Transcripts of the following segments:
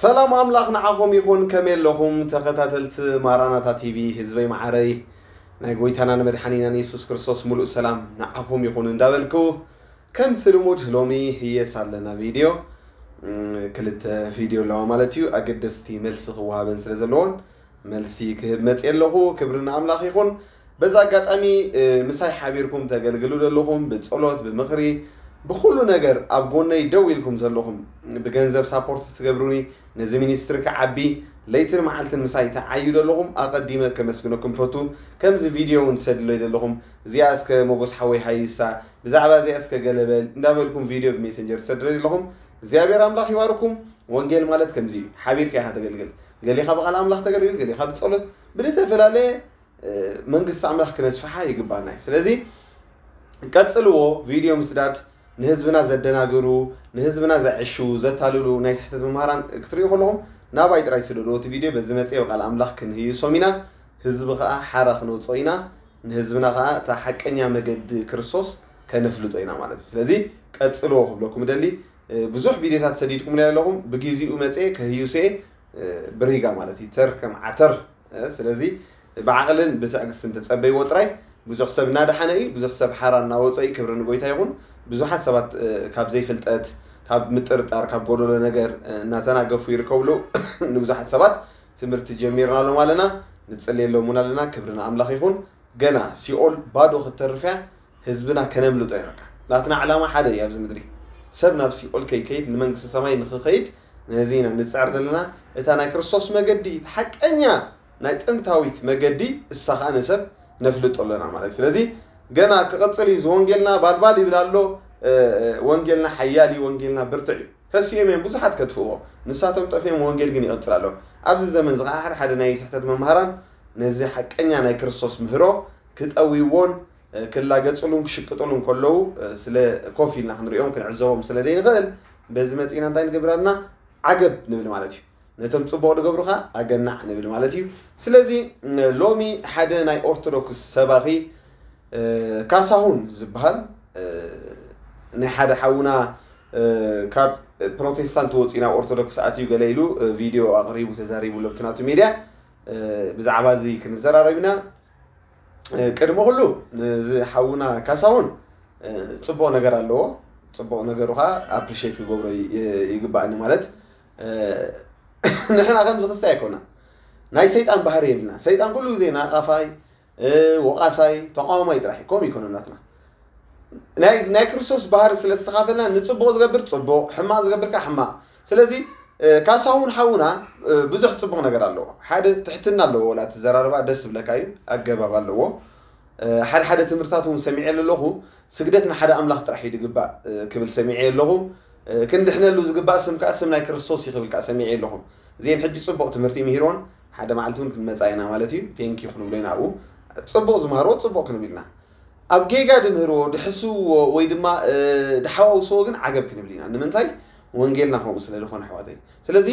ሰላም ኣምላኽ ንዓኹም ይኹን። ከመይ ኣለኹም ተኸታተልቲ ማራናታ ቲቪ ህዝበይ መዓረይ? ናይ ጎይታና ንመድሓኒናን የሱስ ክርስቶስ ሙሉእ ሰላም ንዓኹም ይኹን እንዳበልኩ፣ ከምቲ ልሙድ ሎሚ ህየሳ ኣለና ቪድዮ፣ እም፣ ክልተ ቪድዮ ኣለዋ ማለት እዩ። ኣገደስቲ መልሲ ክወሃበን ስለ ዘለዎን መልሲ ክህብ መፅእ ኣለኹ። ክብሪ ንኣምላኽ ይኹን። በዚ ኣጋጣሚ፣ እ፣ ምሳይ ሓቢርኩም ተገልግሉ ዘለኹም፣ ብጸሎት፣ ብምኽሪ፣ ብኹሉ ነገር ኣብ ጎነይ ደው ኢልኩም ዘለኹም፣ ብገንዘብ ሳፖርት ትገብሩኒ፣ ነዚ ሚኒስትሪ ክዓቢ ለይትን መዓልትን ምሳይ ትዓዩ ዘለኹም ኣቐዲመ ከመስግነኩም ፈቱ። ከምዚ ቪድዮ እውን ትሰድለይ ዘለኹም፣ እዚኣ እስከ መጎስ ሓወይ ሃይሳ፣ ብዛዕባ እዚኣ እስከ ገለ በል እንዳበልኩም ቪድዮ ብሜሴንጀር ትሰድለይ ዘለኹም፣ እግዚኣብሔር ኣምላኽ ይባርኩም። ወንጌል ማለት ከምዚ እዩ። ሓቢርካ ኢኻ ተገልግል። ገሊኻ ብቓል ኣምላኽ ተገልግል፣ ገሊኻ ብጸሎት፣ ብዝተፈላለየ፣ እ፣ መንግስቲ ኣምላኽ ክነስፍሓ ይግባና እዩ። ስለዚ ቀጽልዎ፣ ቪድዮ ምስዳድ፣ ንህዝብና ዘደናግሩ፣ ንህዝብና ዘዕሹ፣ ዘታልሉ ናይ ስሕተት መምሃራን ክትሪኡ ከለኹም ናባይ ጥራይ ስደድዎ። እቲ ቪድዮ በዚ መጽእ ብቓል ኣምላኽ ክንህይሶም ኢና። ህዝቢ ኸኣ ሓራ ክነውጽኦ ኢና። ንህዝብና ኸኣ እታ ሓቀኛ መገዲ ክርስቶስ ከነፍልጦ ኢና ማለት እዩ። ስለዚ ቀጽልዎ ክብለኩም እደሊ። እ፣ ብዙሕ ቪድዮታት ሰዲድኩምለይ ኣለኹም። ብግዜኡ መጽእ ከህይሶ እየ፣ እ፣ ብሪጋ ማለት እዩ። ተር ከም ዓተር። እ፣ ስለዚ ብዓቕልን ብትዕግስትን ተጸበይዎ ጥራይ። ብዙሕ ሰብ እናደሓነ እዩ፣ ብዙሕ ሰብ ሓራ እናወጸ እዩ። ክብሪ ንጎይታ ይኹን። ብዙሓት ሰባት፣ እ፣ ካብ ዘይፍልጠት፣ ካብ ምጥርጣር፣ ካብ ጎደሎ ነገር፣ እ፣ እናተናገፉ ይርከቡ ኣለዉ። ንብዙሓት ሰባት ትምህርቲ ጀሚርናሎም ኣለና፣ ንጽልየሎም እውን ኣለና። ክብሪ ንኣምላኽ ይኹን። ገና ሲኦል ባዶ ክትተርፍ እያ። ህዝብና ከነምልጦ ኢና። በቃ ናትና ዕላማ ሓደ እዩ ኣብዚ ምድሪ። ሰብ ናብ ሲኦል ከይከይድ፣ ንመንግስቲ ሰማይ ንኽኸይድ፣ ነዚ ኢና ንጽዕር ዘለና። እታ ናይ ክርስቶስ መገዲ፣ እቲ ሓቀኛ ናይ ጥንታዊት መገዲ፣ እሳ ኸኣ ንሰብ ነፍልጦ ኣለና ማለት እዩ። ስለዚ ገና ክቕጽል እዩ። እዚ ወንጌልና ባልባል ይብል ኣሎ። እ፣ እ፣ ወንጌልና ሓያል እዩ፣ ወንጌልና ብርቱዕ እዩ። ተሲኦም እዮም ብዙሓት ከጥፍእዎ። ንሳቶም ጠፊኦም፣ ወንጌል ግን ይቕጽል ኣሎ። ኣብዚ ዘመን እዚ ኸዓ ሓደ ሓደ ናይ ስሕተት መምሃራን ነዚ ሓቀኛ ናይ ክርስቶስ ምህሮ ክጠውይዎን፣ እ፣ ክላገጽሉን ክሽቅጥሉን ከለዉ፣ እ፣ ስለ ኮፍ ኢልና ክንሪኦም ክንዕዘቦም ስለ ዘይንኽእል፣ በዚ መጺእና እንታይ ንገብር ኣለና? ዓገብ ንብል ማለት እዩ። ነቶም ጽቡቕ ዝገብሩ ኸኣ ኣገናዕ ንብል ማለት እዩ። ስለዚ፣ እ፣ ሎሚ ሓደ ናይ ኦርቶዶክስ ሰባኺ፣ እ፣ ካሳሁን ዝበሃል፣ እ፣ ናይ ሓደ ሓውና፣ እ፣ ካብ ፕሮቴስታንት ወጺኡ ናብ ኦርቶዶክስ ኣትዩ ገለ ኢሉ፣ እ፣ ቪድዮ ኣቕሪቡ ተዛሪቡ ኣሎ ኣብቲ ናቱ ሜድያ። እ፣ ብዛዕባ እዚ ክንዘራረብ ኢና። እ፣ ቅድሚ ኩሉ፣ እዚ ሓውና ካሳሁን፣ እ፣ ጽቡቕ ነገር ኣለዎ። ጽቡቕ ነገሩ ኸኣ ኣፕሪሼት ክገብሮ ይ-፣ ይ-፣ ይግባኣኒ ማለት፣ እ፣ ንሕና ከምዚ ክስታይ ኣይኮናን። ናይ ሰይጣን ባህሪ የብልና። ሰይጣን ኩሉ ግዜ ናቓፋይ፣ እ፣ ወቓሳይ፣ ተቓዋማይ ጥራሕ እዩ። ከምኡ ይኮነ ናትና። ናይ፣ ናይ ክርስቶስ ባህሪ ስለ ዝተኻፈልና ንጽቡቕ ዝገብር ጽቡቕ፣ ሕማቕ ዝገብር ከኣ ሕማቕ። ስለዚ፣ እ፣ ካሳሁን ሓውና፣ እ፣ ብዙሕ ጽቡቕ ነገር ኣለዎ። ሓደ ትሕትና ኣለዎ፣ ወላ እቲ ዘራርባ ደስ ዝብለካ እዩ፣ ኣገባብ ኣለዎ። እ፣ ሓደ ሓደ ትምህርትታት እውን ሰሚዐ ኣለኹ፣ ስግደት ንሓደ ኣምላኽ ጥራሕ እዩ ዝግባእ፣ እ፣ ክብል ሰሚዐ ኣለኹ። እ፣ ክንድሕነሉ ዝግባእ ስም ከኣ ስም ናይ ክርስቶስ እዩ ክብል ከኣ ሰሚዐ ኣለኹ። እዚአን ሕጂ ጽቡቕ ትምህርቲ ምሂርዎን፣ ሓደ መዓልቲ እውን ክንመጻ ኢና ማለት እዩ። ቴንክ ዩ ክንብሎ ኢና ኣብኡ። ጽቡቕ ዝመሃርዎ ጽቡቕ ክንብል ኢና። ኣብ ጌጋ ድምህርዎ፣ ድሕስውዎ ወይ ድማ፣ እ፣ ድሓዋውስዎ ግን ዓገብ ክንብል ኢና። ንምንታይ? ወንጌልና ከምኡ ስለ ዝኾነ ኣሕዋተይ። ስለዚ፣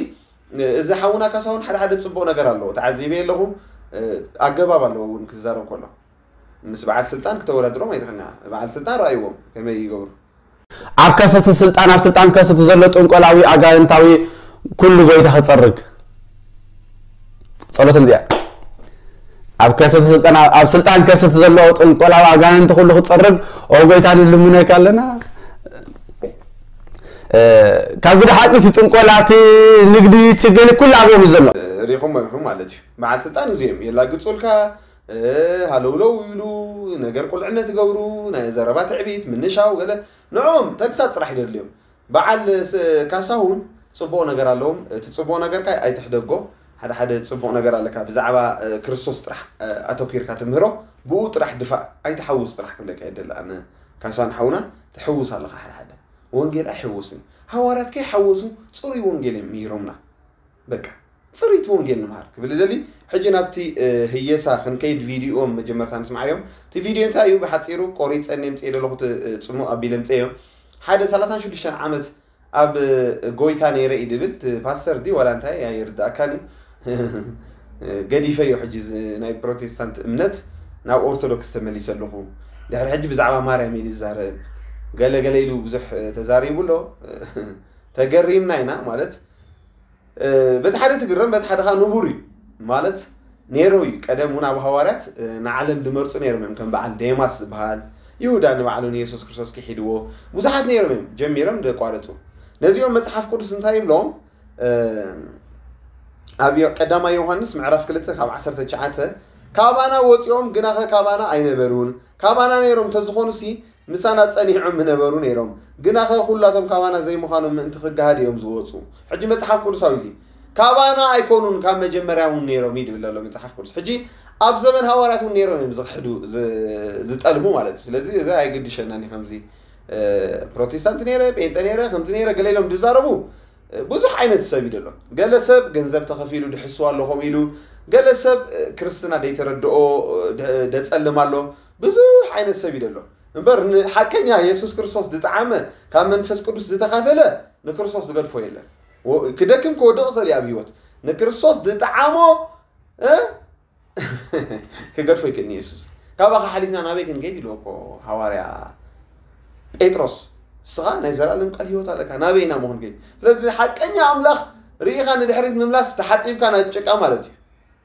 እ፣ እዚ ሓውና ካሳሁን ሓደ ሓደ ጽቡቕ ነገር ኣለዎ። ተዓዚበ ኣለኹ። እ፣ ኣገባብ ኣለዎ እውን ክዛረብ ከሎ። ምስ በዓል ስልጣን ክተወዳድሮም ኣይትኽእልና። በዓል ስልጣን ረኣይዎም ከመይ ይገብሩ። ኣብ ከሰቲ ስልጣን፣ ኣብ ስልጣን ከሰቲ ዘሎ ጥንቆላዊ ኣጋንንታዊ ኩሉ ጎይታ ክጸርግ። ጸሎቶም እዚኣ። ኣብ ከሰቲ ስልጣን፣ ኣብ ስልጣን ከሰቲ ዘሎ ጥንቆላዊ ኣጋንንቲ ኩሉ ክጸርግ፣ ኦ ጎይታ ንልምነካ ኣለና። እ፣ ካብ ግዲ ሓቂ እቲ ጥንቆላ፣ እቲ ንግዲ፣ እቲ ገለ ኩሉ ኣብኦም እዩ ዘሎ። እ፣ ሪኹም መምሑ ማለት እዩ። በዓል ስልጣን እዚኦም የላግጹልካ፣ እ፣ ሃለውለው ይብሉ፣ ነገር ቁልዕነት ይገብሩ፣ ናይ ዘረባ ትዕቢት፣ ምንሻው ገለ። ንዕኦም ተግሳጽ ጥራሕ ይደድልዮም። በዓል ስ-፣ ካሳሁን ጽቡቕ ነገር ኣለዎም። እቲ ጽቡቕ ነገርካ ኣይትሕደጎ። ሓደ ሓደ ጽቡቕ ነገር ኣለካ። ብዛዕባ፣ እ፣ ክርስቶስ ጥራሕ፣ እ፣ ኣተኲርካ ትምህሮ። ብኡ ጥራሕ ድፋእ። ኣይትሓውስ ጥራሕ ክብለካ ይደሊ። ኣነ ካሳሁን ሓውና ትሕውስ ኣለኻ ሓደ ሓደ። ወንጌል ኣይሕውስን። ሃዋርያት ከይሓወሱ ጽሩይ ወንጌል እዮም ምሂሮምና። በቃ፣ ጽሪት ወንጌል ንምሃር ክብል ይደሊ። ሕጂ ናብቲ፣ እ፣ ህየሳ ክንከይድ ቪድዮኦም መጀመርታ ንስምዓዮም። እቲ ቪድዮ እንታይ እዩ? ብሓጺሩ ቆሪጸ እኔ ምጽኤ ዘለኹ እቲ፣ እ፣ ጽሙቕ ኣቢለ ምጽኤዮም። ሓደ ሰላሳን ሽዱሽተን ዓመት ኣብ፣ እ፣ ጎይታ ነይረ እዩ ድብል፣ እቲ ፓስተር ድዩ ዋላ እንታይ ኣይርድኣካን እዩ። ገዲፈዮ ሕጂ እዚ ናይ ፕሮቴስታንት እምነት ናብ ኦርቶዶክስ ተመሊሰ ኣለኹ። ድሕሪ ሕጂ ብዛዕባ ማርያም እዩ ዝዛረብ። ገለ ገለ ኢሉ ብዙሕ፣ እ፣ ተዛሪቡ ኣሎ። ተገሪምና ኢና ማለት በቲ ሓደ ትግረም በቲ ሓደ ከዓ ንቡር እዩ ማለት ነይሩ እዩ። ቀደም እውን ኣብ ሃዋርያት ንዓለም ዝመርፁ ነይሮም እዮም። ከም በዓል ዴማስ ዝበሃል ይሁዳ ንባዕሉ ንየሱስ ክርስቶስ ክሒድዎ ብዙሓት ነይሮም እዮም ጀሚሮም ዘቋረፁ። ነዚኦም መፅሓፍ ቅዱስ እንታይ ይብሎም? ኣብ ቀዳማይ ዮሃንስ ምዕራፍ ክልተ ካብ ዓሰርተ ትሽዓተ ካባና ወፂኦም ግናኸ ካባና ኣይነበሩን፣ ካባና ነይሮም እንተዝኾኑሲ ምሳና ጸኒዖም ምነበሩ ነይሮም። ግናኸ ኩላቶም ካባና ዘይምዃኖም ምእንቲ ክገሃድ እዮም ዝወጹ። ሕጂ መጽሓፍ ቅዱሳዊ እዚ ካባና ኣይኮኑን፣ ካብ መጀመርያ እውን ነይሮም እዩ ዝብል ዘሎ መጽሓፍ ቅዱስ። ሕጂ ኣብ ዘመን ሃዋርያት እውን ነይሮም እዮም ዝኽሕዱ፣ ዝ-፣ ዝጠልሙ ማለት እዩ። ስለዚ እዚ ኣይግድሸናን እዩ። ከምዚ፣ እ፣ ፕሮቴስታንት ነይረ፣ ጴንጠ ነይረ፣ ከምዚ ነይረ፣ ገለ ኢሎም ዝዛረቡ፣ እ፣ ብዙሕ ዓይነት ሰብ እዩ ዘሎ። ገለ ሰብ ገንዘብ ተኸፊሉ ድሕስዋ ኣሎ ከምኡ ኢሉ፣ ገለ ሰብ፣ እ፣ ክርስትና ደይተረድኦ፣ እ፣ ደ-፣ ደጸልም ኣሎ። ብዙሕ ዓይነት ሰብ እዩ ዘሎ። እምበር ንሓቀኛ የሱስ ክርስቶስ ዝጠዓመ፣ ካብ መንፈስ ቅዱስ ዝተኻፈለ ንክርስቶስ ዝገድፎ የለን። ወ-፣ ክደክም ክወድቕ ይኽእል እዩ ኣብ ህይወት። ንክርስቶስ ዝጠዓሞ፣ እ? ክገድፎ ይክእል የሱስ። ካባኻ ሓሊፍና ናበይ ክንከይድ ኢልዎ እኮ ሃዋርያ ጴጥሮስ። እስኻ ናይ ዘላለም ቃል ህይወት ኣለካ፣ ናበይ ኢና መኹን ከይድ? ስለዚ ሓቀኛ ኣምላኽ ርኢኻ ንድሕሪት ምምላስ ተሓጺብካ ናብ ጭቃ ማለት እዩ።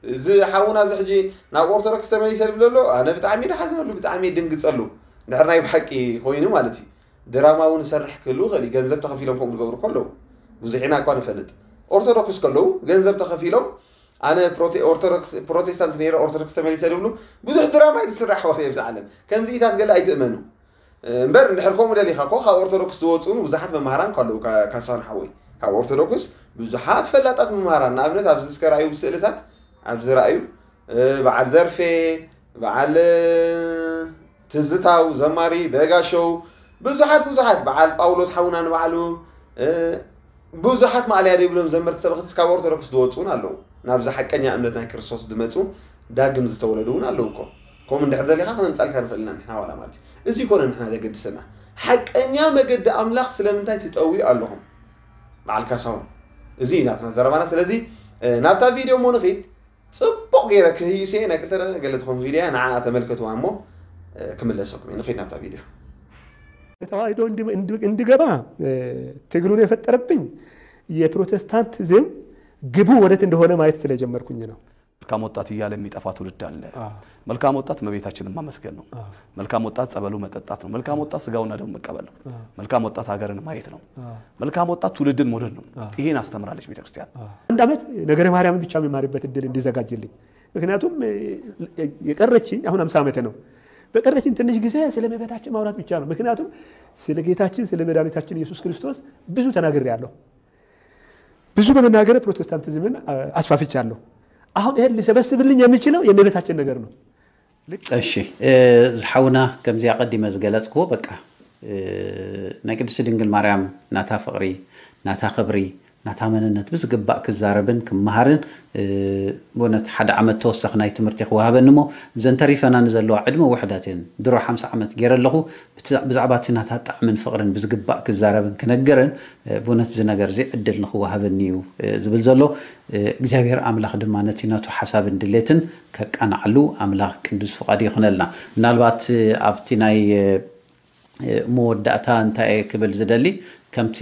እዚ ሓውና እዚ ሕጂ ናብ ኦርቶዶክስ ተመሊሰ ዝብል ኣሎ፣ ኣነ ብጣዕሚ ድሓዘነሉ፣ ብጣዕሚ ድንግጸሉ። ድሕር ናይ ብሓቂ ኮይኑ ማለት እዩ። ድራማ እውን ይሰርሕ ክህሉ ይኽእል እዩ። ገንዘብ ተኸፊሎም ከምኡ ዝገብሩ ከለዉ ብዙሕ ኢና እኳ ንፈልጥ። ኦርቶዶክስ ከለዉ ገንዘብ ተኸፊሎም ኣነ ፕሮቴ-፣ ኦርቶዶክስ፣ ፕሮቴስታንት ነይረ ኦርቶዶክስ ተመሊሰ ዝብሉ ብዙሕ ድራማ እዩ ዝስራሕ ኣሕዋት ኣብዚ ዓለም። ከምዚኢታት ገለ ኣይትእመኑ። እምበር እንድሕር ከምኡ ደሊኻ እኮ ካብ ኦርቶዶክስ ዝወፁ እውን ብዙሓት መምሃራን እኮ ኣለዉ። ካ-፣ ካሳሁን ሓወይ፣ ካብ ኦርቶዶክስ ብዙሓት ፈላጣት መምሃራን፣ ንኣብነት ኣብዚ እስከ ረኣዩ ስእልታት፣ ኣብዚ ረኣዩ፣ እ፣ በዓል ዘርፌ፣ በዓል፣ እ፣ ትዝታው፣ ዘማሪ በጋሸው፣ ብዙሓት ብዙሓት፣ በዓል ጳውሎስ ሓውና ንባዕሉ፣ እ፣ ብዙሓት ማእለያ ዘይብሎም ዘመርቲ ሰበኽቲ ካብ ኦርቶዶክስ ዝወፁ እውን ኣለዉ። ናብዚ ሓቀኛ እምነት ናይ ክርስቶስ ዝመፁ ዳግም ዝተወለዱ እውን ኣለዉ እኮ። ከምኡ እንድሕር ደሊኻ ክነምፃልካ ንኽእል ኢና ንሕና ዋላ ማለት እዩ። እዚ ይኮነ ንሕና ዘገድሰና። ሓቀኛ መገዲ ኣምላኽ ስለምንታይ ትጠውዩ ኣለኹም? በዓል ካሳሁን፣ እዚ እዩ ናትና ዘረባና። ስለዚ፣ እ፣ ናብታ ቪድዮ እሞ ንኺድ። ጽቡቕ ገይረ ክህይስ እየ፣ ናይ ክልተ ደቂቕ ገለ ትኸውን ቪድዮ እያ፣ ንዓኣ ተመልከትዋ እሞ፣ እ፣ ክምለሰኩም እየ። ንኺድ ናብታ ቪድዮ። ተዋህዶ እንድ-፣ እንድ-፣ እንድገባ፣ እ፣ ትግሉን የፈጠረብኝ የፕሮቴስታንቲዝም ግቡ ወዴት እንደሆነ ማየት ስለጀመርኩኝ ነው። መልካም ወጣት እያለ የሚጠፋ ትውልድ አለ። አዎ። መልካም ወጣት እመቤታችንን ማመስገን ነው። አዎ። መልካም ወጣት ጸበሉ መጠጣት ነው። መልካም ወጣት ስጋውና ደሙ መቀበል ነው። አዎ። መልካም ወጣት ሀገርን ማየት ነው። አዎ። መልካም ወጣት ትውልድን መውለድ ነው። አዎ። ይሄን አስተምራለች ቤተክርስቲያን። አዎ። አንድ ዓመት ነገረ ማርያምን ብቻ የሚማርበት እድል እንዲዘጋጅልኝ። ምክንያቱም፣ እ፣ የቀረችኝ አሁን አምሳ ዓመቴ ነው። በቀረችኝ ትንሽ ጊዜ ስለ እመቤታችን ማውራት ብቻ ነው። ምክንያቱም ስለ ጌታችን ስለ መድኃኒታችን ኢየሱስ ክርስቶስ ብዙ ተናግሬያለሁ። ብዙ በመናገር ፕሮቴስታንቲዝምን፣ አ-፣ አስፋፍቻለሁ። አሁን ይሄን ሊሰበስብልኝ የሚችለው የእመቤታችን ነገር ነው። ልክ እሺ፣ እ፣ ዝሓውና ከምዚ ኣቐዲመ ዝገለጽክዎ፣ በቃ፣ እ፣ ናይ ቅድስቲ ድንግል ማርያም ናታ ፍቕሪ፣ ናታ ክብሪ፣ ናታ መንነት ብዝግባእ ክዛረብን ክመሃርን፣ እ፣ ብእውነት ሓደ ዓመት ተወሳኺ ናይ ትምህርቲ ክወሃበኒ እሞ፣ እዘን ተሪፈናኒ ዘለዋ ዕድመ ውሕዳት እየን። ድሮ ሓምሳ ዓመት ገይረ ኣለኹ። ብት-፣ ብዛዕባ እቲ ናታ ጣዕምን ፍቕርን ብዝግባእ ክዛረብን ክነግርን፣ እ፣ ብእውነት እዚ ነገር እዚ ዕድል ንኽወሃበኒ እዩ፣ እ፣ ዝብል ዘሎ። እ፣ እግዚኣብሔር ኣምላኽ ድማ ነቲ ነቱ ሓሳብን ድሌትን ከቃንዓሉ ኣምላኽ ቅዱስ ፍቓዱ ይኹነልና። ምናልባት፣ እ፣ ኣብቲ ናይ፣ እ፣ መወዳእታ እንታይ እየ ክብል ዝደሊ፣ ከምቲ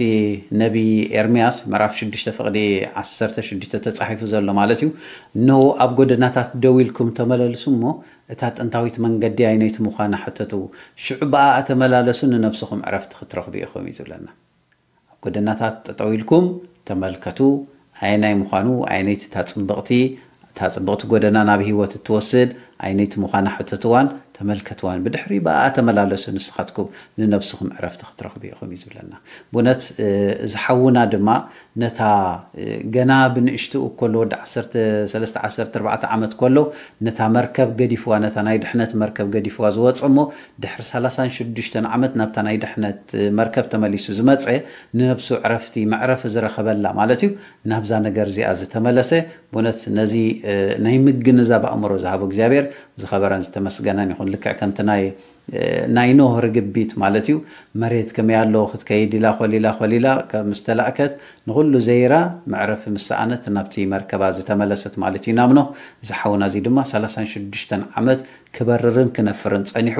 ነቢ ኤርምያስ ምዕራፍ ሽዱሽተ ፍቕዲ ዓሰርተ ሽዱሽተ ተጻሒፉ ዘሎ ማለት እዩ። "እነሆ ኣብ ጎደናታት ደው ኢልኩም ተመለልሱ እሞ፣ እታ ጥንታዊት መንገዲ ኣይነይቲ ምዃና ሕተቱ። ሽዑ ብኣኣ ተመላለሱ፣ ንነብስኹም ዕረፍቲ ክትረኽቡ ኢኹም" እዩ ዝብለና። ኣብ ጎደናታት ጠጠው ኢልኩም ተመልከቱ፣ ኣየናይ ምዃኑ፣ ኣየነይቲ እታ ጽብቕቲ፣ እታ ጽብቕቲ ጎደና ናብ ህይወት እትወስድ፣ ኣየነይቲ ምዃና ሕተትዋን ተመልከትዋን። ብድሕሪ ብኣኣ ተመላለሱ፣ ንስኻትኩም ንነብስኹም ዕረፍቲ ክትረኽቡ ኢኹም እዩ ዝብለና። ብእውነት፣ እ፣ እዚ ሓውና ድማ ነታ፣ እ፣ ገና ብንእሽትኡ ከሎ፣ ወዲ ዓሰርተ ሰለስተ ዓሰርተ ኣርባዕተ ዓመት ከሎ፣ ነታ መርከብ ገዲፍዋ፣ ነታ ናይ ድሕነት መርከብ ገዲፍዋ ዝወጸ እሞ፣ ድሕሪ ሰላሳን ሽዱሽተን ዓመት ናብታ ናይ ድሕነት መርከብ ተመሊሱ ዝመጸ፣ ንነብሱ ዕረፍቲ፣ መዕረፊ ዝረኸበላ ማለት እዩ። ናብዛ ነገር እዚኣ ዝተመለሰ፣ ብእውነት ነዚ፣ እ፣ ናይ ምግንዛብ ኣእምሮ ዝሃቦ እግዚኣብሔር ዝኸበረን ዝተመስገነን ይኹን። ልክዕ ከምቲ ናይ ናይ ኖህ ርግቢት ማለት እዩ። መሬት ከመይ ኣሎ ክትከይድ ኢላ ኮሊላ ኮሊላ ምስ ተላእከት ንኹሉ ዘይራ መዕረፊ ምስ ሰኣነት ናብቲ መርከባ ዝተመለሰት ማለት እዩ ናብ ኖህ። እዚ ሓውና እዚ ድማ ሰላሳን ሽዱሽተን ዓመት ክበርርን ክነፍርን ጸኒሑ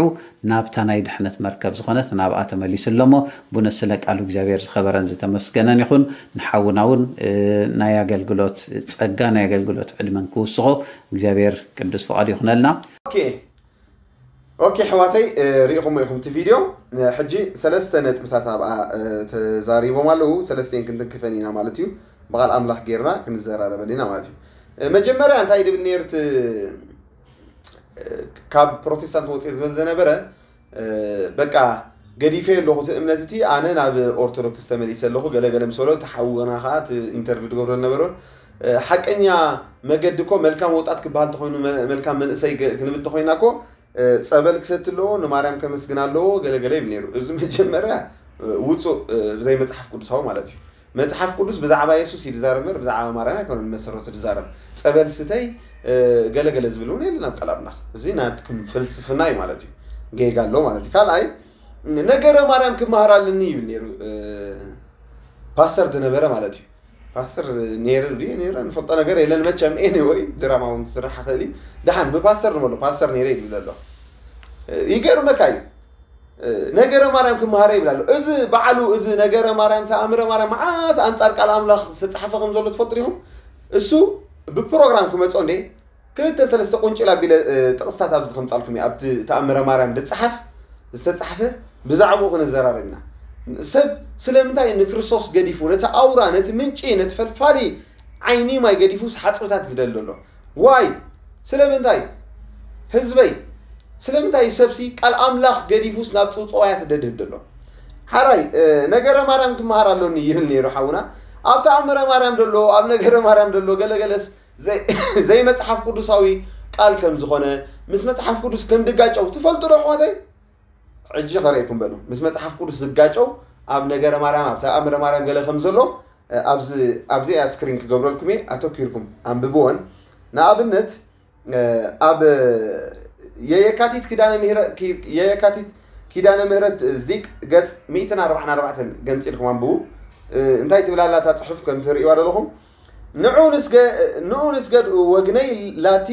ናብታ ናይ ድሕነት መርከብ ዝኾነት ናብኣ ተመሊሱ ኣሎ እሞ ብእውነት ስለ ቃሉ እግዚኣብሔር ዝኸበረን ዝተመስገነን ይኹን። ንሓውና እውን ናይ ኣገልግሎት ጸጋ ናይ ኣገልግሎት ዕድመን ክውስኾ እግዚኣብሔር ቅዱስ ፍቓዱ ይኹነልና። ኦኬ ኣሕዋተይ፣ ርኢኹሞ ኢኹም እቲ ቪድዮ። ሕጂ ሰለስተ ነጥብታት ኣብኣ ተዛሪቦም ኣለዉ። ሰለስተን ክንትንክፈን ኢና ማለት እዩ። ብቓል ኣምላኽ ጌርና ክንዘራረበሉ ኢና ማለት እዩ። መጀመርያ እንታይ ድብል ነይሩ እቲ ካብ ፕሮቴስታንት ወፅእ ዝብል ዝነበረ፣ በቃ ገዲፈ ኣለኹ እቲ እምነት እቲ፣ ኣነ ናብ ኦርቶዶክስ ተመሊሰ ኣለኹ ገለገለ ምስ በሎ፣ ተሓውና ከዓ እቲ ኢንተርቪው ትገብሮ ዝነበረ ሓቀኛ መገዲ እኮ መልካም ወጣት ክበሃል ተኮይኑ፣ መልካም መንእሰይ ክንብል ተኮይና እኮ ጸበል ክሰቲ ኣለዎ፣ ንማርያም ከመስግን ኣለዎ ገለገለ ይብል ነይሩ። እዚ መጀመርያ ውፁእ፣ ብዘይ መፅሓፍ ቅዱሳዊ ማለት እዩ። መፅሓፍ ቅዱስ ብዛዕባ የሱስ እዩ ዝዛረብ እምበር ብዛዕባ ማርያም ኣይኮነን መሰረቱ ዝዛረብ። ጸበል ስተይ ገለገለ ዝብል እውን የለን ኣብ ቃል ኣምላኽ። እዚ ናትኩም ፍልስፍና እዩ ማለት እዩ። ጌጋ ኣሎ ማለት እዩ። ካልኣይ ነገረ ማርያም ክመሃር ኣለኒ ይብል ነይሩ ፓስተር ዝነበረ ማለት እዩ። ፓስተር ነይረ ድዩ ነይረ ንፈልጦ ነገር የለን መቸም። ኤኒወይ ድራማ እውን ክስራሕ ይኽእል እዩ። ደሓን ብፓስተር ንበሎ ፓስተር ነይረ ይብል ዘሎ። ይገርመካ እዩ። ነገረ ማርያም ክመሃረ ይብል ኣሎ። እዚ በዓሉ እዚ ነገረ ማርያም ተኣምረ ማርያም መዓት ኣንጻር ቃል ኣምላኽ ዝተጻሕፈ ከም ዘሎ ትፈልጡ ዲኹም? እሱ ብፕሮግራም ክመጾ እንዴ ክልተ ሰለስተ ቁንጭል ኣቢለ ጥቕስታት ኣብዚ ከምጻልኩም እየ። ኣብቲ ተኣምረ ማርያም ዝጸሓፍ ዝተጻሕፈ ብዛዕባኡ ክንዘራረብ ኢና። ሰብ ስለምንታይ ንክርስቶስ ገዲፉ ነቲ ኣውራ ነቲ ምንጪ ነቲ ፈልፋሊ ዓይኒ ማይ ገዲፉስ ሓጽብታት ዝደሊ ዘሎ? ዋይ ስለምንታይ ህዝበይ ስለምንታይ ሰብሲ ቃል ኣምላኽ ገዲፉስ ናብ ጽውጽዋያት ደድህብ ዘሎ? ሓራይ ነገረ ማርያም ክመሃር ኣሎኒ ይብል ነይሩ ሓውና። ኣብ ተኣምረ ማርያም ደሎ ኣብ ነገረ ማርያም ደሎ ገለገለስ ዘይመጽሓፍ ቅዱሳዊ ቃል ከም ዝኾነ ምስ መጽሓፍ ቅዱስ ከም ድጋጨው ትፈልጡ ዶ ኣሕዋተይ? ሕጂ ከረእኩም በሉ ምስ መጽሓፍ ቅዱስ ዝጋጨው ኣብ ነገረ ማርያም ኣብ ተኣምረ ማርያም ገለ ከም ዘሎ ኣብዚ ኣብዚኣ ስክሪን ክገብረልኩም እየ። ኣተኪርኩም ኣንብብወን። ንኣብነት ኣብ የየካቲት ኪዳነ ምህረት የየካቲት ኪዳነ ምህረት ዚቅ ገጽ ሚእትን ኣርባዕን ኣርባዕተን ገንጺልኩም ኣንብቡ። እንታይ ትብል ኣላ እታ ጽሑፍ ከም ትርእይዋ ዘለኹም? ንዑ ንስገ ንዑ ንስገድ ወግነይ ላቲ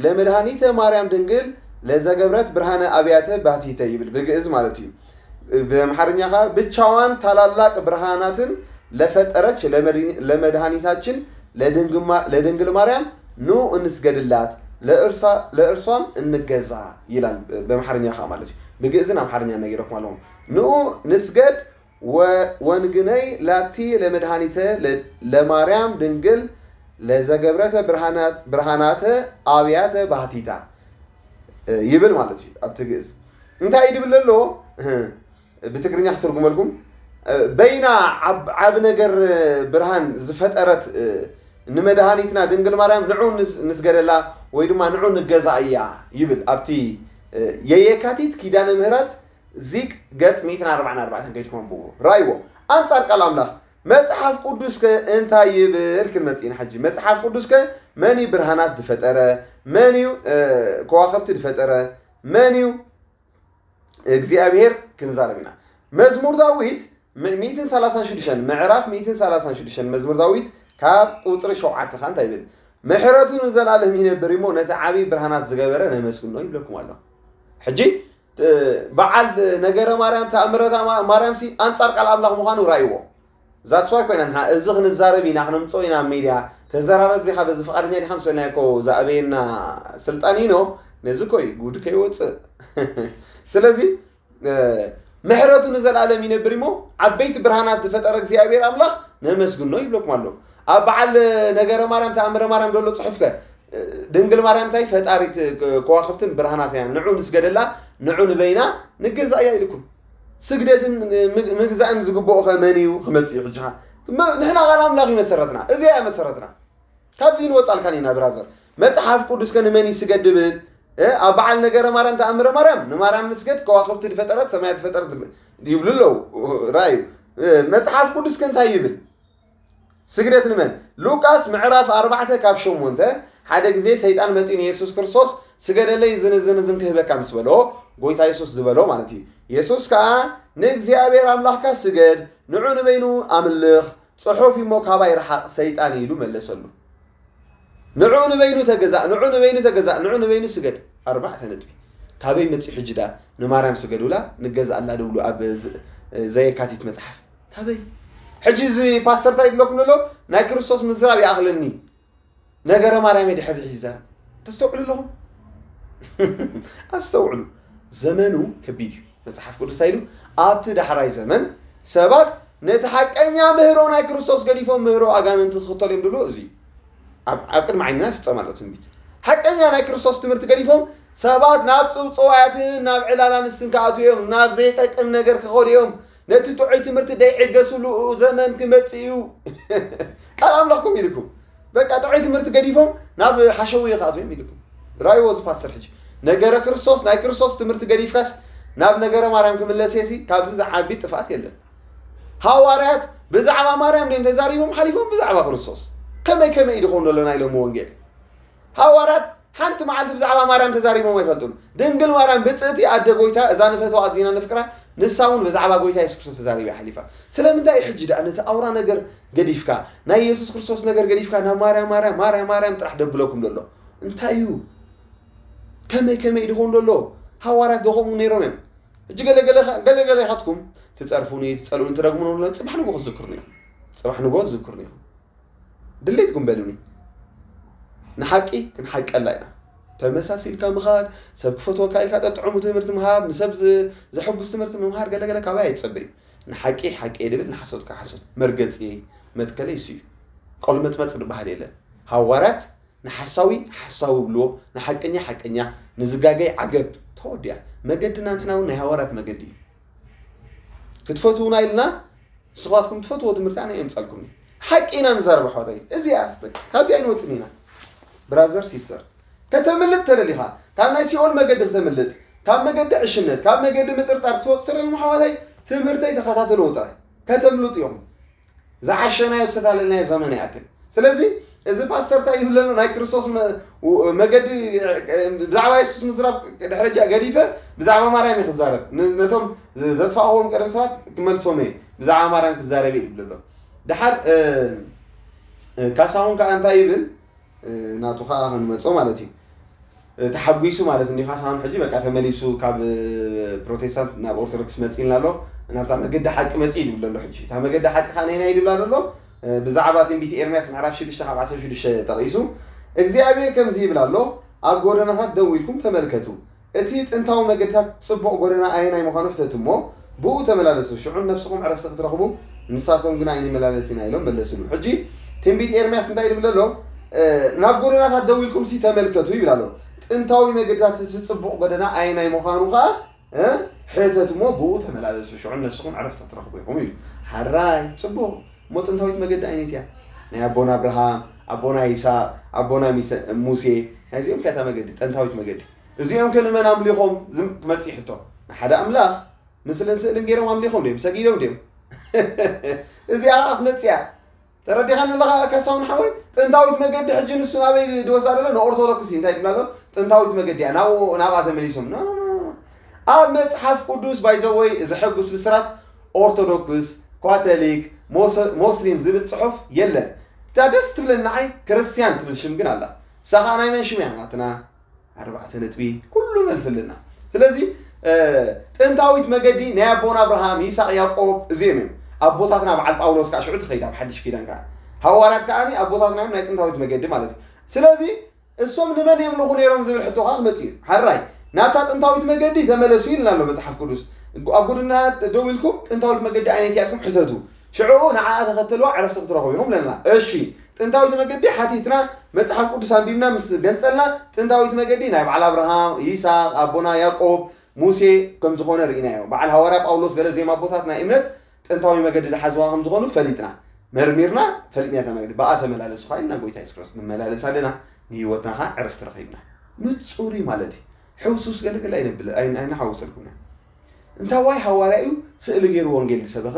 ለመድኃኒተ ማርያም ድንግል ለዘገብረት ብርሃነ አብያተ ባቲተ ይብል ብግእዝ ማለት እዩ። ብአምሓርኛ ከዓ ብቻዋን ታላላቅ ብርሃናትን ለፈጠረች ለመድኃኒታችን ለድንግል ማርያም ኑ እንስገድላት ለእርሷም እንገዛ ይላል። በምሓርኛ ከዓ ማለት እዩ። ብግእዝን ኣምሓርኛ ነጊረኩም ኣለኹም። ንኡ ንስገድ ወንግነይ ላቲ ለመድኃኒተ ለማርያም ድንግል ለዘገብረተ ብርሃናተ ኣብያተ ባህቲታ ይብል ማለት እዩ። ኣብቲ ግእዝ እንታይ እዩ ድብል ዘሎ? ብትግርኛ ክትርጉመልኩም በይና ዓብ ነገር ብርሃን ዝፈጠረት ንመድሃኒትና ድንግል ማርያም ንዑ ንስገደላ ወይ ድማ ንዑ ንገዛ እያ ይብል። ኣብቲ የየካቲት ኪዳነ ምህረት ዚቅ ገጽ ሚእትን ኣርባዕን ኣርባዕተን ከይድኩም ኣንብቡ። ራእይዎ። ኣንጻር ቃል ኣምላኽ መጽሓፍ ቅዱስከ እንታይ ይብል ክንመጽእ ኢና። ሕጂ መጽሓፍ ቅዱስከ መን እዩ ብርሃናት ዝፈጠረ? መን እዩ ከዋኽብቲ ዝፈጠረ? መን እዩ እግዚኣብሔር ክንዛረብ ኢና። መዝሙር ዳዊት ሚእትን ሰላሳን ሽዱሽተን ምዕራፍ ሚእትን ሰላሳን ሽዱሽተን መዝሙር ዳዊት ካብ ቁፅሪ ሸውዓተ ከዓ እንታይ ይብል? ምሕረቱ ንዘላለም ይነብር እሞ ነቲ ዓብዪ ብርሃናት ዝገበረ ነመስግኖ ይብለኩም ኣሎ። ሕጂ በዓል ነገረ ማርያም ተኣምረታ ማርያም ሲ ኣንፃር ቃል ኣምላኽ ምዃኑ ራእይዎ። ዛትስ ዋይ ኮይና ንሕና እዚ ክንዛረብ ኢና ክነምፅኦ ኢና ኣብ ሚድያ። ተዘራረብ ዲኻ በዚ ፍቓደኛ ዲኻ ምስ በልናዮ እኮ ዝኣበየና ስልጣን ኢኖ ነዚ እኮ እዩ ጉድ ከይወፅእ። ስለዚ ምሕረቱ ንዘለኣለም ይነብር እሞ ዓበይቲ ብርሃናት ዝፈጠረ እግዚኣብሔር ኣምላኽ ነመስግኖ ይብለኩም ኣሎ። ኣብ በዓል ነገረ ማርያም ተኣምረ ማርያም ዘሎ ፅሑፍከ ድንግል ማርያም እንታይ ፈጣሪት ከዋኽብትን ብርሃናት እያ፣ ንዑ ንስገደላ፣ ንዑ ንበይና ንገዛእያ ኢልኩም። ስግደትን ምግዛእን ዝግብኦ ከ መን እዩ ክመጽእ እዩ? ሕጂ ንሕና ቃል ኣምላኽ እዩ መሰረትና፣ እዚኣ እያ መሰረትና። ካብዚ ንወጻልካን ኢና ብራዘር። መጽሓፍ ቅዱስ ከ ንመን ይስገድ ድብል? ኣብ በዓል ነገረ ማርያም ተኣምረ ማርያም ንማርያም ንስገድ፣ ከዋኽብቲ ዝፈጠረት ሰማያት ዝፈጠረት ይብሉ ኣለዉ። ራእዩ መጽሓፍ ቅዱስ ከ እንታይ ይብል? ስግደት ንመን? ሉቃስ ምዕራፍ ኣርባዕተ ካብ ሸሞንተ ሓደ ግዜ ሰይጣን መጺኡ ንየሱስ ክርስቶስ ስገደለይ፣ ዝን ዝን ዝን ክህበካ ምስ በሎ፣ ጎይታ የሱስ ዝበሎ ማለት እዩ። የሱስ ከኣ ንእግዚኣብሔር ኣምላኽካ ስገድ፣ ንዑ ንበይኑ ኣምልኽ፣ ጽሑፍ እሞ ካባይ ርሓቕ ሰይጣን ኢሉ መለሰሉ። ንዑ ንበይኑ ተገዛእ፣ ንዑ ንበይኑ ተገዛእ፣ ንዑ ንበይኑ ስገድ። ኣርባዕተ ነጥቢ። ካበይ መጺኡ ሕጂ ዳ ንማርያም ስገዱላ ንገዛእላ ድብሉ ኣብ ዘየካቲት መጽሓፍ? ካበይ? ሕጂ እዚ ፓስተር እንታይ ይብለኩም ዘሎ? ናይ ክርስቶስ ምዝራብ ይኣኽለኒ። ነገረ ማርያም ድሕር ሕጂ ይዛረብ። ተስተውዕሉ ኣለኹም? ኣስተውዕሉ። ዘመኑ ከቢድ እዩ። መጽሓፍ ቅዱስ እንታይ ኢሉ? ኣብቲ ዳሕራይ ዘመን ሰባት ነቲ ሓቀኛ ምህሮ ናይ ክርስቶስ ገዲፎም ምህሮ ኣጋንንቲ ክኽተሉ እዮም ድብሎ እዚ ኣብ ኣብ ቅድሚ ዓይንና ይፍጸም ኣሎ ትንቢት። ሓቀኛ ናይ ክርስቶስ ትምህርቲ ገዲፎም ሰባት ናብ ጽውጽዋያትን ናብ ዕላላን ንስን ክኣትዉ እዮም፣ ናብ ዘይጠቅም ነገር ክኸዱ እዮም። ነቲ ጥዑይ ትምህርቲ ደይዕገስሉ ዘመን ክመጽእ እዩ። ቃል ኣምላኽኩም ኢልኩም በቃ ጥዑይ ትምህርቲ ገዲፎም ናብ ሓሸውየ ክኣትዉ እዮም ኢልኩም። ራእይዎ እዚ ፓስተር ሕጂ ነገረ ክርስቶስ ናይ ክርስቶስ ትምህርቲ ገዲፍካስ ናብ ነገረ ማርያም ክምለስ የሲ ካብዚ ዝዓቢ ጥፍኣት የለን። ሃዋርያት ብዛዕባ ማርያም ድዮም ተዛሪቦም ሓሊፎም ብዛዕባ ክርስቶስ? ከመይ ከመይ እዩ ድኸውን ዘሎ ናይ ሎሚ ወንጌል? ሃዋርያት ሓንቲ መዓልቲ ብዛዕባ ማርያም ተዛሪቦም ኣይፈልጡን። ድንግል ማርያም ብጽእቲ ኣደ ጎይታ እዛ ንፈትዋ ኣዚና ንፍቅራ ንሳ እውን ብዛዕባ ጎይታ የሱስ ክርስቶስ ተዛሪባ ሓሊፋ። ስለምንታይ እዩ ሕጂ ደኣ ነቲ ኣውራ ነገር ገዲፍካ ናይ የሱስ ክርስቶስ ነገር ገዲፍካ ናብ ማርያም ማርያም ማርያም ማርያም ጥራሕ ደብለኩም ዘሎ እንታይ እዩ? ከመይ ከመይ ድኾን ዘሎ? ሃዋርያት ዶ ከምኡ ነይሮም እዮም? ሕጂ ገለገለ ገለገለ ኢኻትኩም ትጸርፉኒ ትጸልኡኒ ትረግሙኒ ኣሎ ጽባሕ ንጎ ክትዝክሩኒ ኢኹም። ጽባሕ ንጎ ትዝክሩኒ ኢኹም። ድሌትኩም በሉኒ። ንሓቂ ክንሓቀላ ኢና። ተመሳሲልካ ምኻድ፣ ሰብ ክፈትወካ ኢልካ ጠጥዕሙ ትምህርቲ ምሃብ፣ ንሰብ ዘሕጉስ ትምህርቲ ምምሃር ገለገለ ካባይ ኣይትጸበዩ። ንሓቂ ሓቂ እየ ድብል ንሓሶት ከዓ ሓሶት። መርገጺየይ መትከለይ እሱ እዩ። ቆልመጽመጽ ዝበሃል የለን። ሃዋርያት ንሓሳዊ ሓሳዊ ብልዎ፣ ንሓቀኛ ሓቀኛ፣ ንዝጋገይ ዓገብ። ተወዲኣ። መገድና ንሕና እውን ናይ ሃዋርያት መገዲ እዩ። ክትፈትዉና ኢልና ንስኻትኩም ትፈትዎ ትምህርቲ ኣነ የምጻልኩም እዩ። ሓቂ ኢና ንዛረብ ኣሕዋተይ። እዚኣ በቃ ካብዚ ኣይንወጽን ኢና። ብራዘር ሲስተር ከተምልጥ ተደሊኻ ካብ ናይ ሲኦል መገዲ ክተምልጥ ካብ መገዲ ዕሽነት ካብ መገዲ ምጥርጣር ክትወጽእ ተደሊኹም ኣሕዋተይ ትምህርተይ ተኸታተልዎ ጥራይ ከተምልጡ ኢኹም። ዝዓሸናዮ ዝተታለልናዮ ዘመን ይኣክል። ስለዚ እዚ ፓስተር እንታይ ይብል ዘሎ ናይ ክርስቶስ መገዲ ብዛዕባ የሱስ ምዝራብ ድሕረጃ ገዲፈ ብዛዕባ ማርያም እዩ ክዛረብ ነቶም ዘጥፋእዎም ቀደም ሰባት ክመልሶም እየ ብዛዕባ ማርያም ክዛረብ እዩ ይብል ኣሎ። ድሓር ካሳሁን ከዓ እንታይ ይብል ናቱ ከዓ ክንመፆ ማለት እዩ ተሓጒሱ ማለት እንዲ ካሳሁን ሕጂ በቃ ተመሊሱ ካብ ፕሮቴስታንት ናብ ኦርቶዶክስ መፂልና ኣሎ ናብታ መገዲ ሓቂ መፂ ይብል ኣሎ ሕጂ እታ መገዲ ሓቂ ከዓ ነይና ይድብላ ዘሎ ብዛዕባ ትንቢት ኤርምያስ ምዕራፍ ሽዱሽተ ካብ ዓሰርተ ሽዱሽተ ጠቒሱ እግዚኣብሔር ከምዚ ይብል ኣሎ ኣብ ጎደናታት ደው ኢልኩም ተመልከቱ እቲ ጥንታዊ መገድታት ጽቡቕ ጎደና ኣየናይ ምዃኑ ሕተቱ እሞ ብኡ ተመላለሱ፣ ሽዑ ንነፍስኹም ዕረፍቲ ክትረኽቡ፣ ንሳቶም ግና ኣይንመላለስ ኢና ኢሎም መለስሉ። ሕጂ ትንቢት ኤርምያስ እንታይ ይብል ኣሎ? ናብ ጎደናታት ደው ኢልኩም ሲ ተመልከቱ ይብል ኣሎ። ጥንታዊ መገድታት እቲ ጽቡቕ ጎደና ኣየናይ ምዃኑ ኸዓ ሕተት እሞ ብኡ ተመላለሱ፣ ሽዑ ንነፍስኹም ዕረፍቲ ክትረኽቡ ኢኹም ኢሉ። ሓራይ ጽቡቕ እሞ ጥንታዊት መገዲ ኣይነት እያ? ናይ ኣቦና ኣብርሃም፣ ኣቦና ይስሐቅ፣ ኣቦና ሙሴ ናይዚኦም ከታ መገዲ ጠንታዊት መገዲ እዚኦም ከ ንመን ኣምሊኾም ዝም ክመጽእ ሕቶ ንሓደ ኣምላኽ ምስልን ስእልን ገይሮም ኣምሊኾም ድዮም ሰጊዶም ድዮም እዚኣ ከዓ ክትመጽእ እያ ተረዲኻኒ ኣለኻ ከሳውን ሓወይ ጥንታዊት መገዲ ሕጂ ንሱ ናበይ ድወሳ ደሎ ንኦርቶዶክስ እዩ እንታይ ይብላ ኣሎ ጥንታዊት መገዲ እያ ናብኡ ናብኣ ተመሊሶም ኖ ኖ ኖ ኖ ኣብ መጽሓፍ ቅዱስ ባይዘወይ ዘሐጉስ ብስራት ኦርቶዶክስ ካቶሊክ ሞስሊም ዝብል ጽሑፍ የለን እታ ደስ ትብለኒ ንዓይ ክርስትያን ትብል ሽም ግን ኣላ እሳ ከዓ ናይ መን ሽም እያ ናትና ኣርባዕተ ነጥቢ ኩሉ መልስልና ስለዚ ጥንታዊት መገዲ ናይ ኣቦና ኣብርሃም ይስቅ ያዕቆብ እዚኦም እዮም ኣቦታትና በዓል ጳውሎስ ከዓ ሽዑ ትኸይድ ኣብ ሓድሽ ኪዳን ከዓ ሃዋርያት ከዓ ኣቦታትና እዮም ናይ ጥንታዊት መገዲ ማለት እዩ ስለዚ እሶም ንመን የምልኹ ነይሮም ዝብል ሕቶ ከዓ ክመፅእ እዩ ሓራይ ናብታ ጥንታዊት መገዲ ተመለሱ ኢልና ኣሎ መፅሓፍ ቅዱስ ኣብ ጎድና ደው ኢልኩም ጥንታዊት መገዲ ዓይነት እያ ኢልኩም ሕተቱ ሽዑ ንዓኣ ተኸተልዋ ዕረፍቲ ክትረኽቡ ኢኹም ለና እሺ ጥንታዊት መገዲ ሓቲትና መፅሓፍ ቅዱስ ኣንቢብና ምስ ገንፀልና ጥንታዊት መገዲ ናይ በዓል ኣብርሃም ይስሐቅ ኣቦና ያዕቆብ ሙሴ ከም ዝኾነ ርኢናዮ በዓል ሃዋርያ ጳውሎስ ገለ ዜማ ኣቦታት ናይ እምነት ጥንታዊ መገዲ ዝሓዝዋ ከም ዝኾኑ ፈሊጥና መርሚርና ፈሊጥና እታ መገዲ ብኣ ተመላለሱ ካ ኢልና ጎይታ የሱስ ክርስቶስ ንመላለስ ኣለና ንህይወትና ካ ዕረፍቲ ረኺብና ንፁር እዩ ማለት እዩ ሕውስውስ ገለገለ ኣይነብል ኣይንሓውሰልኩምና እንታዋይ ሃዋርያ እዩ ስእሊ ገይሩ ወንጌል ዝሰበኸ?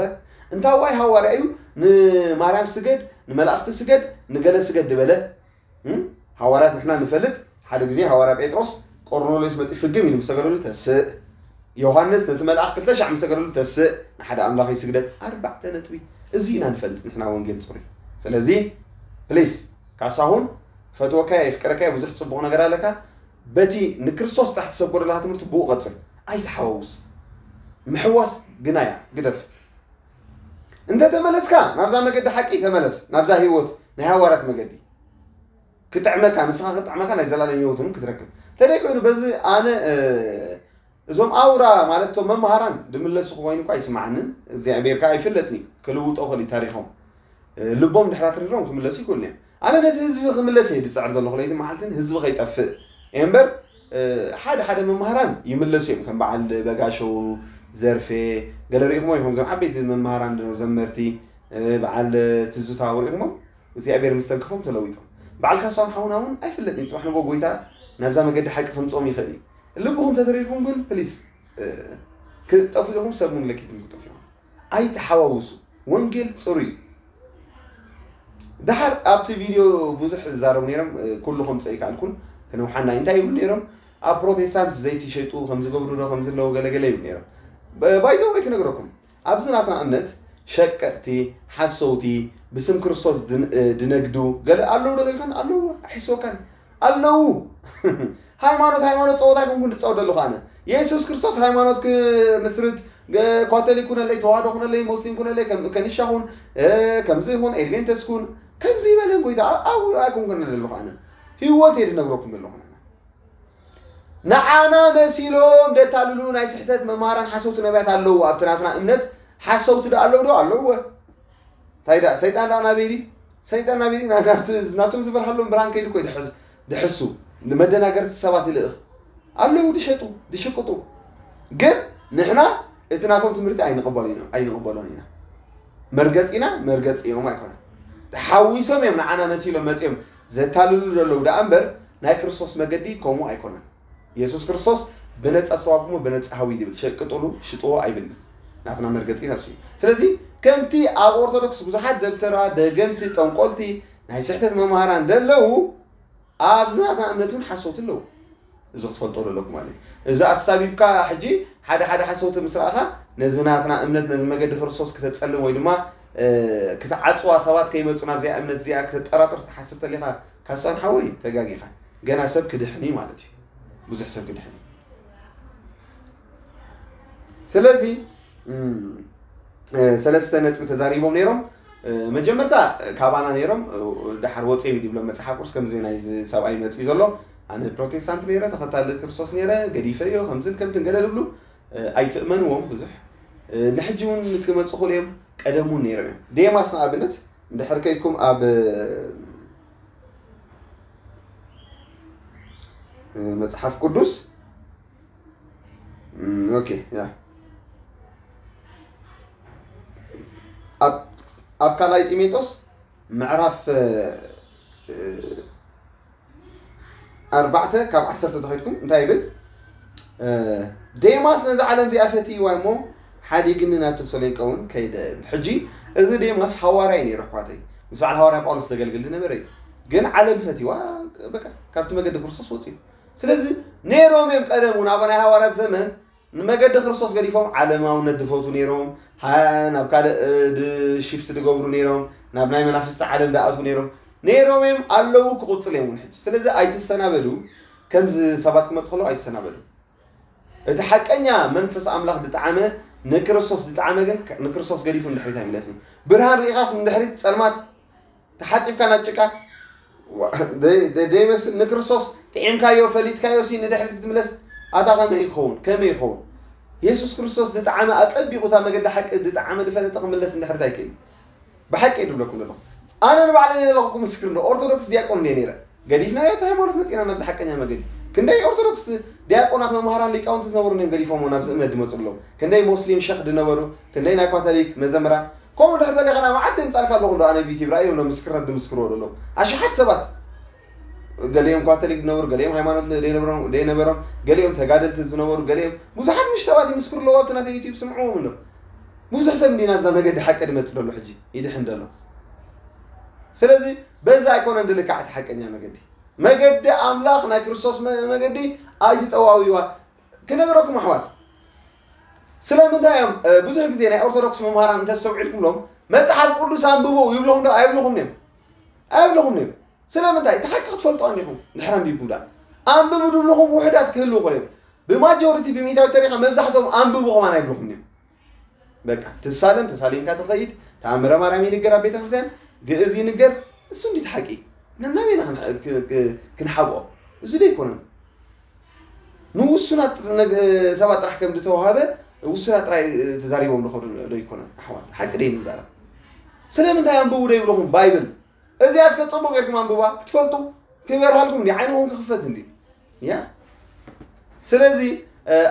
እንታዋይ ሃዋርያ እዩ ንማርያም ስገድ፣ ንመላእኽቲ ስገድ፣ ንገለ ስገድ ዝበለ? ሃዋርያት ንሕና ንፈልጥ ሓደ ግዜ ሃዋርያ ጴጥሮስ ቆርኔሌዎስ መጺኡ ፍግም ኢሉ ምስ ሰገደሉ ተስእ። ዮሃንስ ነቲ መልኣኽ ክልተ ሻዕ ምስ ሰገደሉ ተስእ። ንሓደ ኣምላኽ ይስግደት። ኣርባዕተ ነጥቢ። እዚ ኢና ንፈልጥ ንሕና ወንጌል ጽሩይ። ስለዚ ፕሊስ ካሳሁን፣ ፈትወካ የፍቅረካ ብዙሕ ጽቡቕ ነገር ኣለካ። በቲ ንክርስቶስ ጥራሕ ትሰብኮ ዘለኻ ትምህርቲ ብኡ ቀጽል። ኣይተሓዋውስ። ምሕዋስ ግናያ ግደፍ። እንተ ተመለስካ ናብዛ መገዲ ሓቂ ተመለስ፣ ናብዛ ህይወት ናይ ሃዋርያት መገዲ ክጥዕመካ፣ ንስኻ ክጥዕመካ ናይ ዘላለም ህይወት እውን ክትረክብ። እንተደይ ኮይኑ በዚ ኣነ እዞም ኣውራ ማለት እቶም መምሃራን ድምለሱ ኮይኑ እኳ ኣይስምዓንን። እግዚኣብሔር ከዓ ኣይፍለጥን እዩ፣ ክልውጦ ክእል እዩ ታሪኾም። ልቦም ድሕራት ርሮም ክምለሱ ይክእሉ እዮም። ኣነ ነቲ ህዝቢ ክምለስ እየ ድፅዕር ዘለኹ ለይትን መዓልትን፣ ህዝቢ ከይጠፍእ እየ እምበር። ሓደ ሓደ መምሃራን ይምለሱ እዮም፣ ከም በዓል በጋሸው፣ ዘርፌ፣ ገለ ርኢኹሞ ኢኹም። እዞም ዓበይቲ መምሃራን ዘመርቲ፣ በዓል ትዝታ ርኢኹሞም። እግዚኣብሔር ምስተንክፎም ተለዊጦም። በዓል ካሳሁን ሓውና እውን ኣይፍለጥን እዩ፣ ፅባሕ ንጎ ጎይታ ናብዛ መገዲ ሓቂ ከምፅኦም ይኽእል እዩ። ልብኹም ተተሪርኩም ግን ፕሊስ ክጠፉ ኢኹም፣ ሰብ እውን ለኪትኩም ክጠፉ ኢኹም። ኣይተሓዋውሱ። ወንጌል ፅሩይ እዩ። ድሓር ኣብቲ ቪድዮ ብዙሕ ዝዛረቡ ነይሮም፣ ኩሉ ከምፀ ይከኣልኩን ክነውሓና እዩ። እንታይ ይብሉ ነይሮም? ኣብ ፕሮቴስታንት ዘይቲ ሸጡ ከምዝገብሩ ዶ ከምዝለዎ ገለገለ ይብሉ ነይሮም። ባይዘወይ ክነግረኩም፣ ኣብዚ ናትና እምነት ሸቀጥቲ፣ ሓሰውቲ፣ ብስም ክርስቶስ ድን- ድነግዱ ገለ ኣለዉ ዶ ኢልካን? ኣለዉ። ኣሒስወካን ኣለዉ። ሃይማኖት ሃይማኖት ፀወታ ይኮንኩን ዝፀወደሉ ከኣነ የሱስ ክርስቶስ ሃይማኖት ክምስርት፣ ካቶሊክ ኩነለይ፣ ተዋህዶ ኩነለይ፣ ሞስሊም ኩነለይ፣ ከም- ከኒሻ ኩን፣ ከምዚ ይኹን፣ ኤድቬንተስ ኩን፣ ከምዚ ይበለን ጎይታ ኣብ- ኣብኡ ኣይኮንኩን ዘለኹ ኣነ። ህይወት እየ ዝነግረኩም ዘለኹ። ንዓና መሲሎም ደታልሉ ናይ ስሕተት መምሃራን ሓሰውቲ ነቢያት ኣለዉ። ኣብቲ ናትና እምነት ሓሰውቲ ዶ ኣለዉ ዶ? ኣለዉ። እንታይ ደኣ? ሰይጣን ደኣ ናበይ ድዩ? ሰይጣን ናበይ ድዩ? ናብቲ- ናብቶም ዝበርሃሎም ብርሃን ከይዱ እኮ እዩ ድሕስ- ድሕሱ። ንመደናገርቲ ሰባት ይልእኽ። ኣለዉ ድሸጡ፣ ድሽቅጡ። ግን ንሕና እቲ ናቶም ትምህርቲ ኣይንቕበሉ ኢና- ኣይንቕበሎን ኢና። መርገፂና መርገፂ እዮም ኣይኮነን። ተሓዊሶም እዮም ንዓና መሲሎም መፂኦም ዘታልሉ ዘለዉ ደኣ እምበር ናይ ክርስቶስ መገዲ ከምኡ ኣይኮነን። የሱስ ክርስቶስ ብነፃ ዝተዋጉሞ ብነፃ ሃዊ ይብል። ሸቅጥሉ ሽጥዎ ኣይብልን። ናትና መርገፂና እሱ እዩ። ስለዚ ከምቲ ኣብ ኦርቶዶክስ ብዙሓት ደብተራ፣ ደገምቲ፣ ጠንቆልቲ፣ ናይ ስሕተት መምሃራን ደለዉ ኣብዚ ናትና እምነት እውን ሓሰውቲ ኣለዉ። እዚ ክትፈልጦ ዘለኩም ማለት እዩ። እዚ ኣሳቢብካ ሕጂ ሓደ ሓደ ሓሰውቲ ምስ ረኣኻ ነዚ ናትና እምነት ነዚ መገዲ ክርስቶስ ክተፀልም ወይ ድማ ክትዓፅዋ ሰባት ከይመፁ ናብዚኣ እምነት እዚኣ ክተጠራጥር ትሓስብ ተሊኻ ካሳን ሓወይ ተጋጊኻ። ገና ሰብ ክድሕን እዩ ማለት እዩ። ብዙሕ ሰብ ክድሕን እዩ። ስለዚ ሰለስተ ነጥቢ ተዛሪቦም ነይሮም። መጀመርታ ካባና ነይሮም፣ ድሓር ወፂኦም ይድብሎም መፅሓፍ ቅዱስ ከምዚ ናይ ሰብኣይ መፅኡ ዘሎ። ኣነ ፕሮቴስታንት ነይረ፣ ተኸታሊ ክርስቶስ ነይረ፣ ገዲፈዮ ከምዝን ከምትን ገለ ዝብሉ ኣይትእመንዎም ብዙሕ። ንሕጂ እውን ክመፁ ክእሉ እዮም፣ ቀደም እውን ነይሮም እዮም። ዴማስ ንኣብነት እንድሕር ከይድኩም ኣብ መፅሓፍ ቅዱስ ኦኬ ያ ኣብ ካልኣይ ጢሞቴዎስ ምዕራፍ ኣርባዕተ ካብ ዓሰርተ ተኸይድኩም እንታይ ይብል? ዴማስ ነዚ ዓለም እዚኣ ፈትይዋ እሞ ሓዲግኒ ናብ ተሰሎንቄ እውን ከይደ ይብል። ሕጂ እዚ ዴማስ ሃዋርያ እዩ ነይሩ ኣሕዋተይ፣ ምስ በዓል ሃዋርያ ጳውሎስ ዘገልግል ዝነበረ እዩ። ግን ዓለም ፈትይዋ፣ በቃ ካብቲ መገዲ ክርስቶስ ወፅዩ። ስለዚ ነይሮም እዮም ቀደም እውን ኣብ ናይ ሃዋርያት ዘመን ንመገዲ ክርስቶስ ገዲፎም ዓለማውነት ዝፈቱ ነይሮም፣ ናብ ካልእ ሽፍት ዝገብሩ ነይሮም፣ ናብ ናይ መናፍስቲ ዓለም ዝኣትዉ ነይሮም ነይሮም እዮም ኣለዉ፣ ክቕፅሉ እዮም እውን ሕጂ። ስለዚ ኣይትሰናበዱ። ከምዚ ሰባት ክመፁ ከለዉ ኣይትሰናበዱ። እቲ ሓቀኛ መንፈስ ኣምላኽ ዝጠዓመ ንክርስቶስ ዝጠዓመ ግን ንክርስቶስ ገዲፉ ንድሕሪት ኣይምለስን። ብርሃን ርኢኻስ ንድሕሪት ጸልማት ተሓጺብካ ናብ ጭቃ ዘይመስል ንክርስቶስ ጥዒምካዮ ፈሊጥካዮ ሲ ንድሕሪት ክትምለስ ኣታ ከመይ ይኸውን? ከመይ ይኸውን? የሱስ ክርስቶስ ዝጠዓመ ኣጸቢቑ እታ መገዲ ሓቂ ዝጠዓመ ዝፈለጠ ክምለስ ንድሕሪት ኣይክእል። ብሓቂ እየ ዝብለኩም ዘለኹ። ኣነ ንባዕለይ ዘለኹ ምስክር እንዶ ኦርቶዶክስ ዲያቆን እንደ ነይረ ገዲፍናዮ እቲ ሃይማኖት መፂና ናብዚ ሓቀኛ መገዲ። ክንደይ ኦርቶዶክስ ዲያቆናት መምሃራን ሊቃውንቲ ዝነበሩ እዮም ገዲፎሞ ናብዚ እምነት ዝመፁ ኣለዉ። ክንደይ ሞስሊም ሸኽ ዝነበሩ፣ ክንደይ ናይ ካቶሊክ መዘምራን። ከምኡ ድሕር ተሊኻ ናይ መዓት የምፃልካ ኣለኹ እንዶ ኣነ ቢቲ ብራእዩ እንዶ ምስክርነት ዝምስክርዎ ዘለዉ ኣሽሓት ሰባት። ገሊኦም ካቶሊክ ዝነበሩ፣ ገሊኦም ሃይማኖት ዘይነበሮም፣ ዘይነበሮም፣ ገሊኦም ተጋደልቲ ዝነበሩ፣ ገሊኦም ብዙሓት ምሽ ሰባት ይምስክሩ ኣለዉ። ኣብቲ ናተይ ዩቲዩብ ስምዕዎም እንዶ ብዙሕ ሰብ እንዲ ናብዛ መገዲ ሓቂ ዝመፅእ ዘሎ ሕጂ ይድሕን ዘሎ። ስለዚ በዛ ኣይኮነን ድልካዕ እቲ ሓቀኛ መገዲ። መገዲ ኣምላኽ ናይ ክርስቶስ መ- መገዲ ኣይትጠዋዊዋ። ክነግረኩም ኣሕዋት፣ ስለምንታይ እዮም እ፣ ብዙሕ ግዜ ናይ ኦርቶዶክስ መምሃራን እንተስተውዒልኩምሎም መጽሓፍ ቅዱስ ኣንብቡ ይብለኹም ዶ ኣይብለኹም እዮም? ኣይብለኹም እዮም። ስለምንታይ እቲ ሓቂ ክትፈልጡ ኣንዲኹም ድሕር ኣንቢብኩም ዳ ኣንብቡ ድብለኹም ውሕዳት ክህልው ይኽእሉ እዮም። ብማጆሪቲ ብሚእታዊ ተሪኻ መብዛሕትኦም ኣንብቡ ከማን ኣይብለኹም እዮም። በቃ ትሳለም ተሳሊምካ ትኸይድ። ተኣምረ ማርያም ይንገር ኣብ ቤተክርስትያን፣ ግእዝ ይንገር። እሱ እንዲት ሓቂ ነናበይና ክንሓብኦ እዚ ዶ ኣይኮነን? ንውሱናት ሰባት ጥራሕ ከም ዝተዋሃበ ውሱናት ጥራይ ተዛሪቦም ዝኸዱ ዶ ኣይኮነን? ኣሕዋት ሓቂ ደይ ንዛረብ። ስለምንታይ ኣንብቡ ዶ ይብለኹም ባይብል? እዚኣ እስከ ጽቡቅ ጌርኩም ኣንብባ ክትፈልጡ ክበርሃልኩም እንዲ ዓይንኹም ክኽፈት እንዲ ያ ስለዚ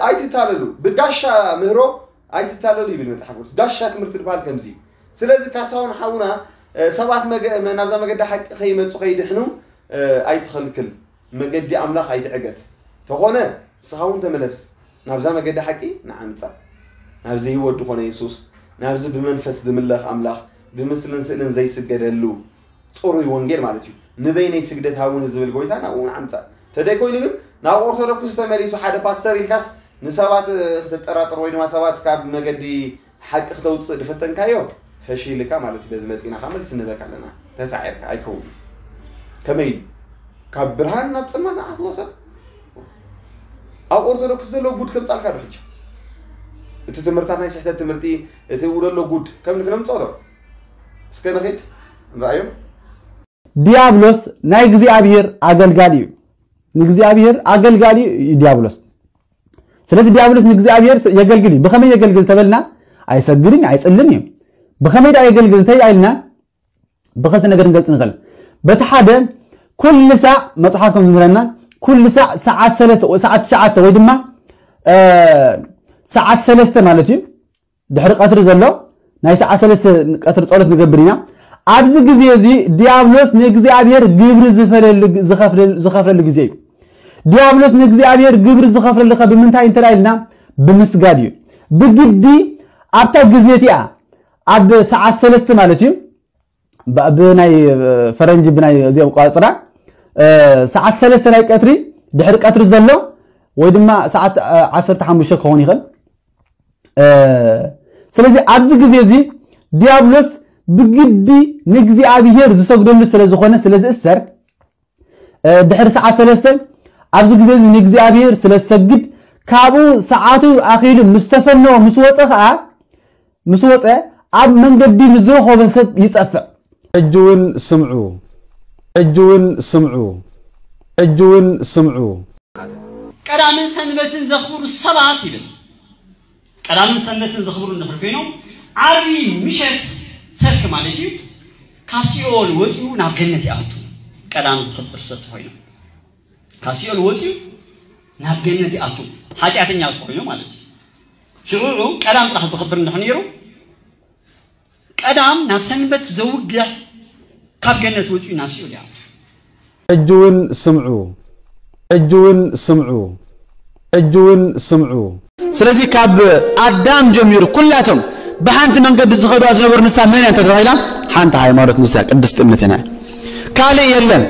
ኣይትታለሉ፣ ብጋሻ ምህሮ ኣይትታለሉ ይብል መጽሓፍ ቅዱስ። ጋሻ ትምህርቲ ዝበሃል ከምዚ እዩ። ስለዚ ካሳሁን ሓውና ሰባት ናብዛ መገዲ ሓቂ ከይመጹ ከይድሕኑ ኣይትኸልክል፣ መገዲ ኣምላኽ ኣይትዕገት። ተኾነ ንስኻ እውን ተመለስ ናብዛ መገዲ ሓቂ ንዓምጻ፣ ናብዚ ህይወት ዝኾነ የሱስ፣ ናብዚ ብመንፈስ ዝምለኽ ኣምላኽ፣ ብምስልን ስእልን ዘይስገደሉ ጽሩይ ወንጌል ማለት እዩ። ንበይነይ ስግደት ሃቡኒ ዝብል ጎይታ ናብኡ ንዓምጻ። ተደይ ኮይኑ ግን ናብ ኦርቶዶክስ ተመሊሱ ሓደ ፓስተር ኢልካስ ንሰባት ክተጠራጥር ወይ ድማ ሰባት ካብ መገዲ ሓቂ ክተውፅእ ዝፈተንካዮ ፈሺልካ ማለት እዩ። በዚ መፂና ካብ መልሲ ንህበካ ኣለና። ተሳዒርካ ኣይከውን። ከመይ ካብ ብርሃን ናብ ፅልማት ንዓትዎ ሰብ ኣብ ኦርቶዶክስ ዘሎ ጉድ ከምፃልካ ዶ ሕጂ እቲ ትምህርታት ናይ ስሕተት ትምህርቲ እቲ ውደሎ ጉድ ከም ክነምፀሎ እስከ ንኺድ ንረኣዮም። ዲያብሎስ ናይ እግዚኣብሔር ኣገልጋሊ እዩ። ንእግዚኣብሔር ኣገልጋሊ እዩ ዲያብሎስ። ስለዚ ዲያብሎስ ንእግዚኣብሔር የገልግል እዩ። ብኸመይ የገልግል ተበልና ኣይሰግድን ኣይጽልን እዩ። ብኸመይ ዳ የገልግል እንተ ኢልና ብኸልተ ነገር ንገልጽ ንኽእል። በቲ ሓደ ኩሉ ሳዕ መጽሓፍ ከም ዝምህረና ኩሉ ሳዕ ሰዓት ሰለስተ ወይ ሰዓት ትሽዓተ ወይ ድማ ሰዓት ሰለስተ ማለት እዩ ድሕሪ ቀትሪ ዘሎ ናይ ሰዓት ሰለስተ ቀትሪ ጸሎት ንገብር ኢና። ኣብዚ ግዜ እዚ ዲያብሎስ ንእግዚኣብሔር ግብሪ ዝፈለሉ ዝኸፍለሉ ግዜ እዩ። ዲያብሎስ ንእግዚኣብሔር ግብሪ ዝኸፍለሉ ከ ብምንታይ እንተ ኢልና ብምስጋድ እዩ። ብግዲ ኣብታ ግዜ እቲኣ ኣብ ሰዓት ሰለስተ ማለት እዩ ብናይ ፈረንጂ ብናይ እዚኦም ቆፅራ ሰዓት ሰለስተ ናይ ቀትሪ ድሕሪ ቀትሪ ዘሎ ወይ ድማ ሰዓት ዓሰርተ ሓሙሽተ ክኸውን ይኽእል። ስለዚ ኣብዚ ግዜ እዚ ዲያብሎስ ብግዲ ንእግዚኣብሔር ዝሰግደሉ ስለ ዝኾነ ስለ ዝእሰር ድሕሪ ሰዓት ሰለስተ ኣብዚ ግዜ እዚ ንእግዚኣብሔር ስለ ዝሰግድ ካብኡ ሰዓቱ ኣኺሉ ምስ ተፈነወ ምስ ወፀ ከዓ ምስ ወፀ ኣብ መንገዲ ንዝረኸቦ ሰብ ይፀፍዕ። ሕጂ እውን ስምዑ፣ ሕጂ እውን ስምዑ፣ ሕጂ እውን ስምዑ። ቀዳምን ሰንበትን ዘኽብሩ ሰባት ይብል። ቀዳምን ሰንበትን ዘኽብሩ እንድሕር ኮይኖም ዓርቢ ምሸት ሰልኪ ማለት እዩ ካብ ሲኦል ወፂኡ ናብ ገነት ይኣቱ። ቀዳም ዘኽብር ሰብ ተኾይኑ ካብ ሲኦል ወፂኡ ናብ ገነት ይኣቱ ሓጢኣተኛ ተኾይኑ ማለት እዩ። ሽዑ ቀዳም ጥራሕ ዘኽብር እንድሕር ነይሩ ቀዳም ናብ ሰንበት ዘውግሕ ካብ ገነት ወፂኡ ናብ ሲኦል ይኣቱ። ሕጂ እውን ስምዑ፣ ሕጂ እውን ስምዑ፣ ሕጂ እውን ስምዑ። ስለዚ ካብ ኣዳም ጀሚሩ ኩላቶም ብሓንቲ መንገዲ ዝኸዱዋ ዝነበሩ ንሳ መን እያ እንተተባሂላ ሓንቲ ሃይማኖት ንሳ ቅድስቲ እምነት ኢና። ካልእ የለን።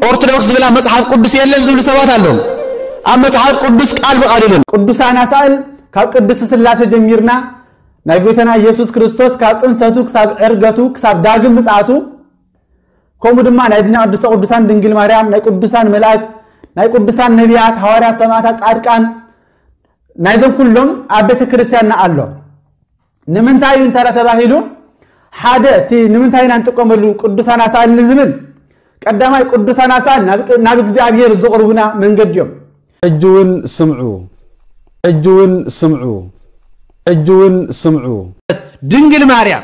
ኦርቶዶክስ ዝብላ መጽሓፍ ቅዱስ የለን ዝብሉ ሰባት ኣለዉ። ኣብ መጽሓፍ ቅዱስ ቃል ብቃል የለን። ቅዱሳን ኣሳእል ካብ ቅድስቲ ስላሴ ጀሚርና ናይ ጎይታና ኢየሱስ ክርስቶስ ካብ ጽንሰቱ ክሳብ ዕርገቱ ክሳብ ዳግም ምጽኣቱ ከምኡ ድማ ናይ ድና ቅድስተ ቅዱሳን ድንግል ማርያም ናይ ቅዱሳን መላእክት ናይ ቅዱሳን ነቢያት ሃዋርያት ሰማዕታት ጻድቃን ናይዞም ኩሎም ኣብ ቤተ ክርስቲያንና ኣሎ። ንምንታይ እዩ እንተ ተባሂሉ ሓደ እቲ ንምንታይ ኢና ንጥቀመሉ ቅዱሳን ኣሳእል ንዝብል ቀዳማይ ቅዱሳን ኣሳእል ናብ እግዚኣብሔር ዝቕርቡና መንገዲ እዮም። ሕጂ እውን ስምዑ፣ ሕጂ እውን ስምዑ፣ ሕጂ እውን ስምዑ። ድንግል ማርያም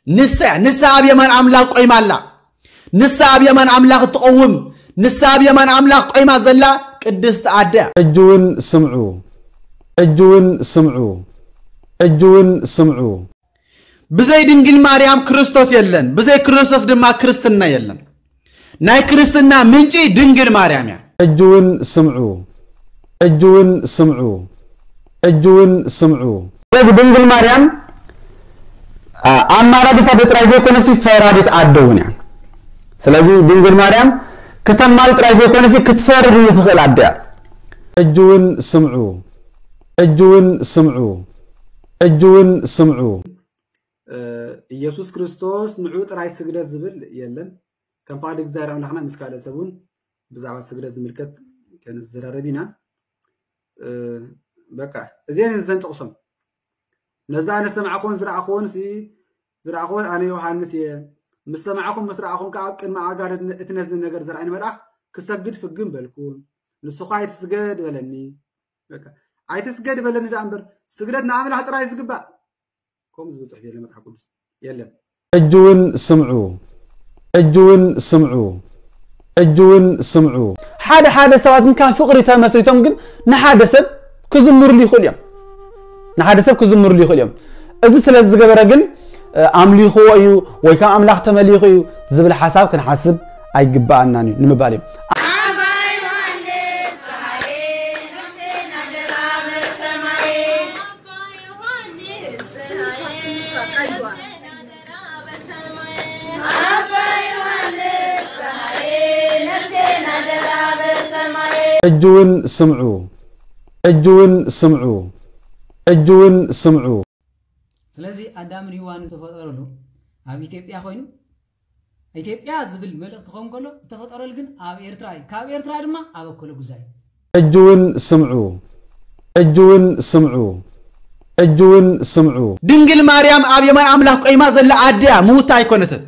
ንሳ እያ። ንሳ ኣብ የማን ኣምላኽ ቆይማ ኣላ። ንሳ ኣብ የማን ኣምላኽ እትቐውም፣ ንሳ ኣብ የማን ኣምላኽ ቆይማ ዘላ ቅድስቲ ኣደ እያ። ሕጂ እውን ስምዑ፣ ሕጂ እውን ስምዑ፣ ሕጂ እውን ስምዑ። ብዘይ ድንግል ማርያም ክርስቶስ የለን፣ ብዘይ ክርስቶስ ድማ ክርስትና የለን። ናይ ክርስትና ምንጪ ድንግል ማርያም እያ። ሕጂ እውን ስምዑ፣ ሕጂ እውን ስምዑ፣ ሕጂ እውን ስምዑ። ስለዚ ድንግል ማርያም ኣማላዲት ኣደ ጥራይ ዘይኮነሲ ፈራዲት ኣደ እውን እያ። ስለዚ ድንግል ማርያም ክተማል ጥራይ ዘይኮነሲ ክትፈርድ እውን ትኽእል ኣደ እያ። ሕጂ እውን ስምዑ፣ ሕጂ እውን ስምዑ፣ ሕጂ እውን ስምዑ። እ፣ ኢየሱስ ክርስቶስ ንዑ ጥራይ ስግደት ዝብል የለን። ከም ፍቓድ እግዚኣብሔር ኣምላኽና ምስ ካልእ ሰብ እውን ብዛዕባ ስግደት ዝምልከት ክንዘራረብ ኢና። እ፣ በቃ እዚአን እዘን ጥቕሶም ነዛ ኣነ ዝሰማዕኩዎን ዝረኣኹዎን ሲ ዝረኣኹዎን ኣነ ዮሃንስ እየ። ምስ ሰማዕኹም ምስ ረኣኹም ከኣ ኣብ ቅድሚ ኣእጋር እቲ ነዚ ነገር ዘርኣኒ መልኣኽ ክሰግድ ፍግም በልኩ። ንሱ ኸኣ ኣይትስገድ በለኒ። በቃ ኣይትስገድ በለኒ ደኣ እምበር ስግደት ንኣምላኽ ጥራይ እዩ ዝግባእ። ከምኡ ዝብል ጽሑፍ የለን መጽሓፍ ቅዱስ የለን። ሕጂ እውን ስምዑ፣ ሕጂ እውን ስምዑ፣ ሕጂ እውን ስምዑ። ሓደ ሓደ ሰባት ግን ካብ ፍቕሪ ተመስሪቶም ግን ንሓደ ሰብ ክዝምርሉ ይኽእሉ እዮም። ንሓደ ሰብ ክዝምርሉ ይኽእሉ እዮም። እዚ ስለ ዝገበረ ግን እ፣ ኣምሊኽዎ እዩ ወይ ካብ ኣምላኽ ተመሊኹ እዩ ዝብል ሓሳብ ክንሓስብ ኣይግባኣናን እዩ ንምባል እዩ። ሕጂ እውን ስምዑ፣ ሕጂ እውን ስምዑ፣ ሕጂ እውን ስምዑ። ስለዚ ኣዳምን ሂዋንን ዝተፈጠረሉ ኣብ ኢትዮጵያ ኮይኑ ኢትዮጵያ ዝብል መልእኽቲ ክኸውን ከሎ ዝተፈጠረሉ ግን ኣብ ኤርትራ እዩ። ካብ ኤርትራ ድማ ኣብ ኣኮለ ጉዛይ። ሕጂ እውን ስምዑ፣ ሕጂ እውን ስምዑ፣ ሕጂ እውን ስምዑ። ድንግል ማርያም ኣብ የማይ ኣምላኽ ቆይማ ዘላ ኣደ እያ፣ ምውታ ኣይኮነትን።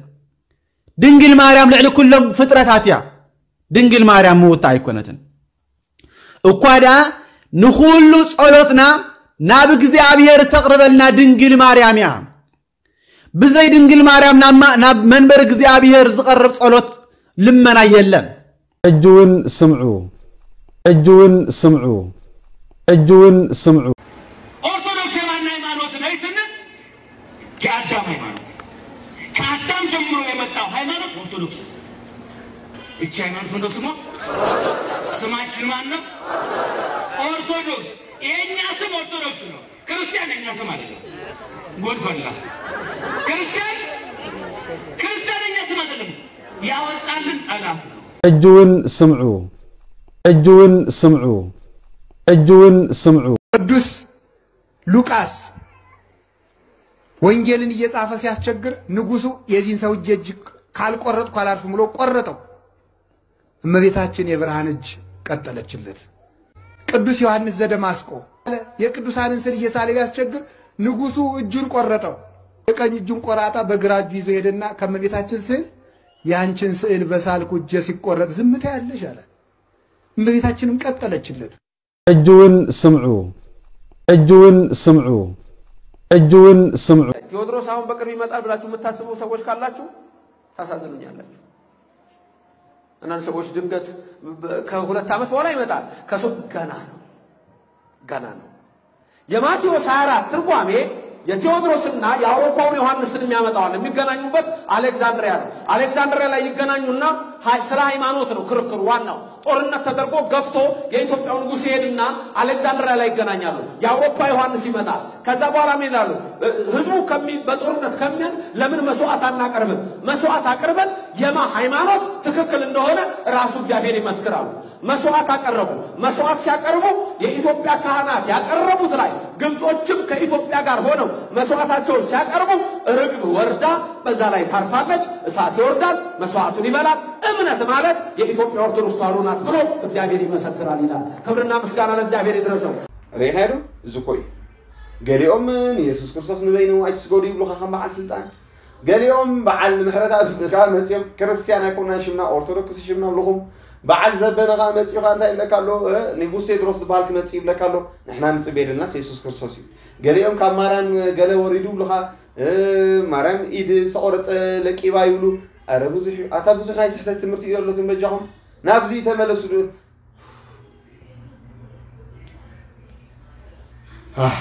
ድንግል ማርያም ልዕሊ ኩሎም ፍጥረታት እያ። ድንግል ማርያም ምውታ ኣይኮነትን። እኳ ደኣ ንኹሉ ጸሎትና ናብ እግዚኣብሔር እተቕርበልና ድንግል ማርያም እያ። ብዘይ ድንግል ማርያም ናብ ማ- ናብ መንበር እግዚኣብሔር ዝቐርብ ጸሎት ልመና የለን። ሕጂ እውን ስምዑ፣ ሕጂ እውን ስምዑ፣ ሕጂ እውን ስምዑ። ኦርቶዶክስ የማን ሃይማኖት ናይ ስንል የአዳም ሃይማኖት ከአዳም ጀምሮ የመጣው ሃይማኖት ኦርቶዶክስ ነው። እቺ ሃይማኖት ምንድነው ስሟ? ስማችን ማን ነው? ኦርቶዶክስ። የኛ ስም ኦርቶዶክስ ነው። ክርስቲያን የኛ ስም አይደለም። ጉድ ፈላ። ክርስቲያን ክርስቲያን የኛ ስም አይደለም። ያወጣልን ጠላት ነው። ሕጂ እውን ስምዑ፣ ሕጂ እውን ስምዑ፣ ሕጂ እውን ስምዑ። ቅዱስ ሉቃስ ወንጌልን እየጻፈ ሲያስቸግር ንጉሱ የዚህን ሰው እጅ እጅ ካልቆረጥኩ አላርፍም ብሎ ቆረጠው። እመቤታችን የብርሃን እጅ ቀጠለችለት። ቅዱስ ዮሐንስ ዘደማስቆ የቅዱሳንን ስዕል እየሳለ ቢያስቸግር ንጉሱ እጁን ቆረጠው። የቀኝ እጁን ቆራጣ በግራ እጁ ይዞ ሄደና ከእመቤታችን ስዕል ያንቺን ስዕል በሳልኩ እጄ ሲቆረጥ ዝም ትያለሽ አላት። እመቤታችንም ቀጠለችለት። ሕጂ እውን ስምዑ፣ ሕጂ እውን ስምዑ፣ ሕጂ እውን ስምዑ። ቴዎድሮስ አሁን በቅርብ ይመጣል ብላችሁ የምታስቡ ሰዎች ካላችሁ ታሳዝኑኛላችሁ። አንዳንድ ሰዎች ድንገት ከሁለት ዓመት በኋላ ይመጣል። ከሱ ገና ነው፣ ገና ነው። የማቴዎስ ሃያ አራት ትርጓሜ የቴዎድሮስና የአውሮፓውን ዮሐንስን የሚያመጣዋል። የሚገናኙበት አሌክዛንድሪያ ነው። አሌክዛንድሪያ ላይ ይገናኙና ሀ- ስለ ሃይማኖት ነው ክርክሩ። ዋናው ጦርነት ተደርጎ ገፍቶ የኢትዮጵያው ንጉሥ ይሄድና አሌክዛንድሪያ ላይ ይገናኛሉ። የአውሮፓ ዮሐንስ ይመጣል። ከዛ በኋላ ምን ይላሉ? ህዝቡ ከሚ- በጦርነት ከሚያልቅ ለምን መስዋዕት አናቀርብም? መስዋዕት አቅርበን የማ ሃይማኖት ትክክል እንደሆነ ራሱ እግዚአብሔር ይመስክራሉ። መስዋዕት አቀረቡ። መስዋዕት ሲያቀርቡ የኢትዮጵያ ካህናት ያቀረቡት ላይ ግብጾችም ከኢትዮጵያ ጋር ሆነው መስዋዕታቸውን ሲያቀርቡ ርግብ ወርዳ በዛ ላይ ታርፋለች። እሳት ይወርዳል፣ መስዋዕቱን ይበላል። እምነት ማለት የኢትዮጵያ ኦርቶዶክስ ተዋሕዶ ናት ብሎ እግዚአብሔር ይመሰክራል ይላል። ክብርና ምስጋና ለእግዚአብሔር ይድረሰው። ርኢኻዮ ዶ? እዚ እኮ እዩ። ገሊኦም ንየሱስ ክርስቶስ ንበይኑ ኣይትስገዱ ይብሉኻ ከም በዓል ስልጣን። ገሊኦም በዓል ምሕረተኣብ ከኣ መጺኦም ክርስትያን ኣይኮንናን ሽምና ኦርቶዶክስ ሽምና ኣለኹም። በዓል ዘበነ ከኣ መጺኡ ከኣ እንታይ ይብለካ ኣሎ? እ፣ ንጉስ ቴድሮስ ዝበሃል ክመጽእ ይብለካ ኣሎ። ንሕና ንጽበዮ ዘለናስ የሱስ ክርስቶስ እዩ። ገሊኦም ካብ ማርያም ገለ ወሪዱ ይብሉኻ፣ እ፣ ማርያም ኢድ ዝተቖረጸ ለቂባ ይብሉ። ኣረ ብዙሕ እዩ። ኣታ ብዙሕ ናይ ስሕተት ትምህርቲ እዩ ዘሎ ትንበጃኹም። ናብዚ ተመለሱ ዶ? ኣህ።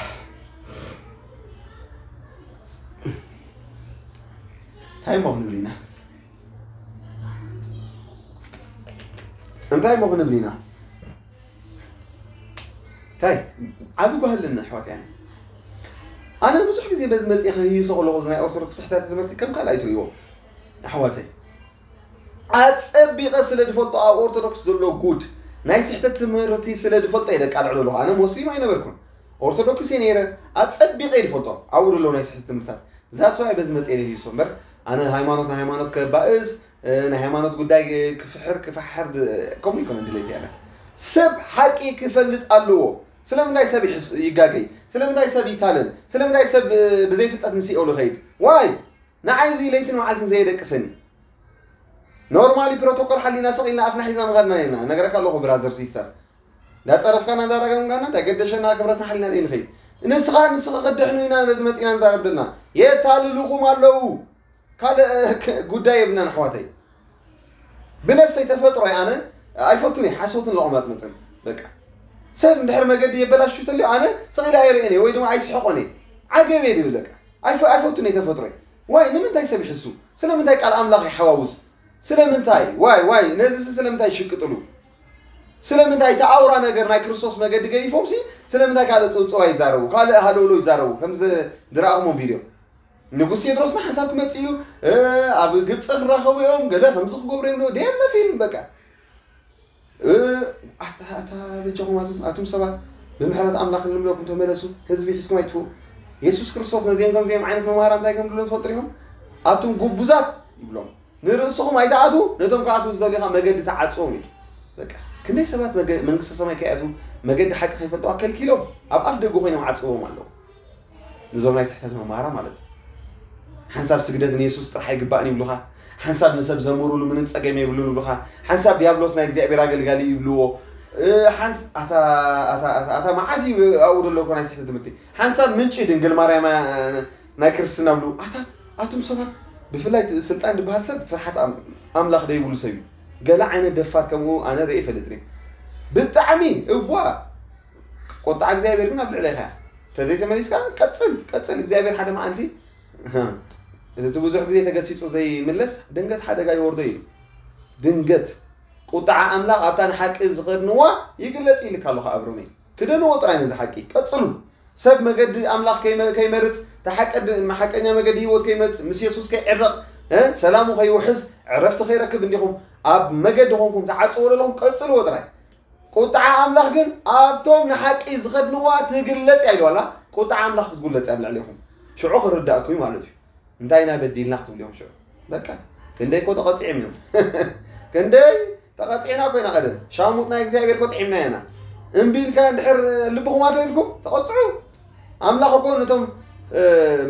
እንታይ እሞ ክንብል ኢና? እንታይ እሞ ክንብል ኢና? እንታይ? ዓቢ ጓሂ ኣለኒ ኣሕዋት፣ ያኒ ኣነ ብዙሕ ግዜ በዚ መጺኤ ክህይሶ ከለኹ እዚ ናይ ኦርቶዶክስ ስሕተት ትምህርቲ ከም ካልኣይ ትርእይዎ ኣሕዋተይ። ኣጸቢቐ ስለ ዝፈልጦ ኣብ ኦርቶዶክስ ዘሎ ጉድ ናይ ስሕተት ትምህርቲ ስለ ዝፈልጦ እየ ደቃልዕሉ ኣለኹ። ኣነ ሞስሊም ኣይነበርኩን፣ ኦርቶዶክስ እየ ነይረ። ኣጸቢቐ እየ ዝፈልጦ ኣብኡ ዘለዉ ናይ ስሕተት ትምህርታት። ዛስዋይ በዚ መጽኤ ለሂሶ እምበር ኣነ ሃይማኖት ንሃይማኖት ከባእስ፣ እ፣ ናይ ሃይማኖት ጉዳይ ክፍሕር ክፈሕር ድ-፣ ከምኡ ይኮነ ድሌት ያለ ሰብ ሓቂ ክፈልጥ ኣለዎ። ስለምንታይ ሰብ ይሕስ-፣ ይጋገይ? ስለምንታይ ሰብ ይታለል? ስለምንታይ ሰብ፣ እ፣ ብዘይፍልጠት ንስኤሉ ይኸይድ? ዋይ ንዓይ እዚ ለይትን መዓልትን ዘየደቅሰኒ። ኖርማሊ ፕሮቶኮል ሓሊና ስቕ ኢልና ኣፍና ሒዛ ምኸድና ኢና። ነገረካ ኣለኹ ብራዘር ሲስተር፣ እንዳፀረፍካና እንዳረገምካና እንታይ ገደሸና? ክብረትና ሓሊና ደይ ንኸይድ። ንስኻ ንስኻ ክድሕኑ ኢና በዚ መፂና ንዛረብ ደልና። የታልልኹም ኣለዉ። ካልእ፣ እ፣ ክ-፣ ጉዳይ የብልናን ኣሕዋተይ። ብነብሰይ ተፈጥሮ ኣነ ኣይፈቱን እየ ሓሶትን ለቑማፅመፅን። በቃ ሰብ እንድሕር መገዲ የበላሹ ተልዮ ኣነ ስቕ ኢለ ኣይርእን እየ ወይ ድማ ኣይስሕቆን እየ። ዓገብ እየ ድብል በቃ። ኣይፈ-፣ ኣይፈቱን እየ ተፈጥሮይ። ዋይ ንምንታይ ሰብ ይሕሱ? ስለምንታይ ቃል ኣምላኽ ይሓዋውስ? ስለምንታይ ዋይ ዋይ ነዚ ስለምንታይ ይሽቅጥሉ? ስለምንታይ እቲ ኣውራ ነገር ናይ ክርስቶስ መገዲ ገዲፎምሲ ስለምንታይ ካልእ ጽውጽዋ ይዛረቡ? ካልእ ሃለውሎ ይዛረቡ? ከም ዝ-፣ ዝረኣኹሞም ቪድዮ ንጉስ ቴድሮስና ሓሳብ ክመጽእ እዩ፣ እ፣ ኣብ ግብፂ ክራኸቡ እዮም፣ ገለ ከምዚ ክገብሩ እዮም፣ ደየለ ፊልም በቃ። እ፣ ኣታ፣ ኣታ በጃኹም ኣቱም፣ ኣቱም ሰባት፣ ብምሕረት ኣምላኽ ንብለኩም ተመለሱ፣ ህዝቢ ሒዝኩም ኣይትፍኡ። የሱስ ክርስቶስ ነዚኦም ከምዚኦም ዓይነት መምሃራ እንታይ ከም ዝብሎም ትፈልጡ ዲኹም? ኣቱም ጉቡዛት ይብሎም። ንርእስኹም ኣይትኣትዉ፣ ነቶም ክኣትዉ ዝደልዩ ኸኣ መገዲ ተዓጽዎም ኢሉ። በቃ፣ ክንደይ ሰባት መገ-፣ መንግስተ ሰማይ ከይኣትዉ፣ መገዲ ሓቂ ከይፈልጥዋ ከልኪሎም፣ ኣብ ኣፍ ደገ ኮይኖም ዓጽዎም ኣለዉ። ንዞም ናይ ስሕተት መምሃራ ማለት እዩ። ሓንሳብ ስግደት ንየሱስ ጥራሕ ኣይግባእን ይብሉኻ። ሓንሳብ ንሰብ ዘምሩሉ ምንም ጸገም የብሉን ይብሉኻ። ሓንሳብ ዲያብሎስ ናይ እግዚኣብሔር ኣገልጋሊ ይብልዎ። እ፣ ሓንስ-፣ ኣታ፣ ኣታ፣ ኣታ፣ ኣታ መዓት እዩ ኣብኡ ዘሎ እኮ ናይ ስሕተት ትምህርቲ። ሓንሳብ ምንጪ ድንግል ማርያም፣ እ፣ ናይ ክርስትና ብሉ። ኣታ፣ ኣቱም ሰባት፣ ብፍላይ እቲ ስልጣን ዝበሃል ሰብ ፍርሓት ኣም-፣ ኣምላኽ ደይብሉ ሰብ እዩ። ገለ ዓይነት ደፋር ከምኡ ኣነ ርእየ ይፈልጥን እየ። ብጣዕሚ እዋ ቁጣ እግዚኣብሔር ግን ኣብ ልዕሌኻ እያ። ተዘይተመሊስካ ቀጽል፣ ቀጽል። እግዚኣብሔር ሓደ መዓልቲ፣ እቲ ብዙሕ ግዜ ተገሲጹ ዘይምለስ ድንገት ሓደጋ ይወርዶ ኢሉ። ድንገት ቁጣዓ ኣምላኽ ኣብታ ንሓቂ ዝኸድንዋ ይግለጽ ኢልካ ኣለኹ ኣብ ሮሜ። ክደንዎ ጥራይ ነዚ ሓቂ። ቀጽሉ። ሰብ መገዲ ኣምላኽ ከይመ-፣ ከይመርጽ፣ ተሓቀድ-፣ ሓቀኛ መገዲ ህይወት ከይመርጽ፣ ምስ የሱስ ከይዕረቕ፣ እ፣ ሰላሙ ከይውሕስ፣ ዕረፍቲ ከይረክብ እንዲኹም ኣብ መገዲ ኮንኩም ተዓጽዎ ዘለኹም ቀጽልዎ ጥራይ። ቁጥዓ ኣምላኽ ግን ኣብቶም ንሓቂ ዝኸድንዋ ትግለጽ እያ ኢሉ ኣላ። ቁጥዓ ኣምላኽ ክትጉለጽ እያ ኣብ ልዕሌኹም። ሽዑ ክርዳእኩም እዩ ማለት እዩ። እንታይ ኢና በዲልና ክትብሉ እዮም ሽዑ። በቃ፣ ክንደይ እኮ ተቐጺዖም እዮም። ክንደይ ተቐጺዕና እኮ ኢና ቀደም። ሻሙጥ ናይ እግዚኣብሔር እኮ ጥዒምና ኢና። እምቢ ኢልካ እንድሕር ልብኹም ኣተሪርኩም፣ ተቐጽዑ። ኣምላኽ እኮ ነቶም፣ እ፣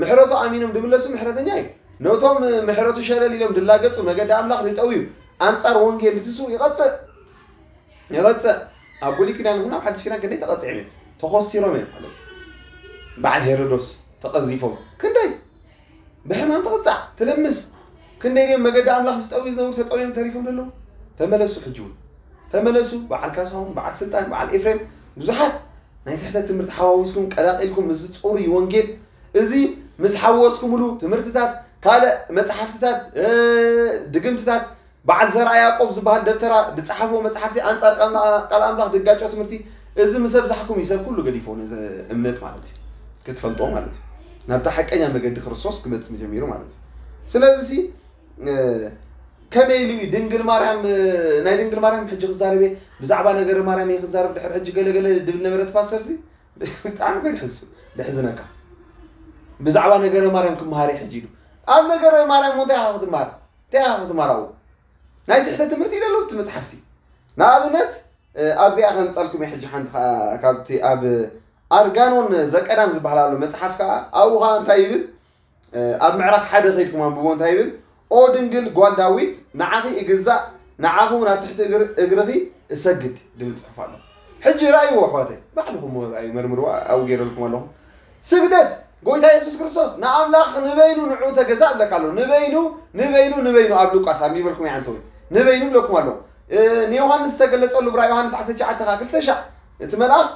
ምሕረቱ ኣሚኖም ድምለሱ ምሕረተኛ እዩ። ነቶም ምሕረቱ ሸለል ኢሎም ድላገጹ መገዲ ኣምላኽ ድጠውዩ ኣንጻር ወንጌል ድትስኡ ይቐጽዕ። ይቐጽዕ። ኣብ ብሉይ ኪዳን ይኹን ኣብ ሓድሽ ኪዳን ክንደይ ተቐጺዖም እዮም። ተኾስቲሮም እዮም ማለት እዩ። በዓል ሄሮዶስ ተቐዚፎም። ክንደይ ብሕማም ትቕጻዕ፣ ትልምስ። ክንደይ ድዮም መገዲ ኣምላኽ ዝጠውዩ ዝነበሩ ተጠውዮም ተሪፎም ዘለዉ? ተመለሱ ሕጂ እውን። ተመለሱ። በዓል ካሳሁን፣ በዓል ስልጣን፣ በዓል ኤፍሬም፣ ብዙሓት ናይ ስሕተት ትምህርቲ ሓዋዊስኩም ቀላቒልኩም ምስዚ ጽሩይ ወንጌል እዚ ምስ ሓወስኩምሉ ትምህርትታት፣ ካልእ መጽሓፍትታት፣ እ፣ ድግምትታት፣ በዓል ዘርኣ ያዕቆብ ዝበሃል ደብተራ ዝጸሓፍዎ መጽሓፍቲ ኣንጻር ቃል ኣም-፣ ቃል ኣምላኽ ድጋጮ ትምህርቲ፣ እዚ ምስ ኣብዛሕኩም እዩ ሰብ ኩሉ ገዲፎ ነዚ እምነት ማለት እዩ። ክትፈልጦ ማለት እዩ። ናብታ ሓቀኛ መገዲ ክርስቶስ ክመጽእ ጀሚሩ ማለት እዩ። ስለዚ ሲ፣ እ፣ ከመይ ኢሉ እዩ ድንግል ማርያም፣ እ፣ ናይ ድንግል ማርያም ሕጂ ክዛረብ እየ፣ ብዛዕባ ነገረ ማርያም እየ ክዛረብ፣ ድሕሪ ሕጂ ገለ ገለ ድብል ነበረ እቲ ፓስተር ሲ፣ ብጣዕሚ እኮ ድሕዝ-፣ ድሕዝነካ። ብዛዕባ ነገረ ማርያም ክመሃር እየ ሕጂ ኢሉ። ኣብ ነገረ ማርያም እሞ እንታይ ኢኻ ክትመሃር? እንታይ ኢኻ ክትመሃር ኣብኡ? ናይ ስሕተት ትምህርቲ እዩ ዘሎ እቲ መጽሓፍቲ። ንኣብነት፣ እ፣ ኣብዚኣ ከምጸልኩም እየ ሕጂ ሓንቲ ከኣ ካብቲ ኣብ ኣርጋኖን ዘቀዳም ዝበሃል ኣሎ መጽሓፍ ከኣ ኣብኡ ከኣ እንታይ ይብል? እ፣ ኣብ ምዕራፍ ሓደ ከይድኩም ኣንብቦ እንታይ ይብል? "ኦ ድንግል ጓል ዳዊት ንዓኺ እግዛእ፣ ንዓኺ እውን ኣብ ትሕቲ እግር-፣ እግርኺ እሰግድ" ድብል ጽሑፍ ኣሎ። ሕጂ ራእይዎ ኣሕዋተይ፣ ባዕልኹም ራእዩ መርምርዎ፣ ኣብኡ ገይረልኩም ኣለኹ። ስግደት ጎይታ የሱስ ክርስቶስ ንኣምላኽ ንበይኑ ንዕኡ ተገዛእ እብለካ ኣሎ። ንበይኑ፣ ንበይኑ፣ ንበይኑ ኣብ ሉቃስ ኣንቢበልኩም እየ ኣንተ ወይ። ንበይኑ እብለኩም ኣሎ። እ፣ ንዮሃንስ ዝተገለጸሉ ብራይ ዮሃንስ ዓሰርተ ትሽዓተ ክልተ ሻዕ እቲ መልኣኽ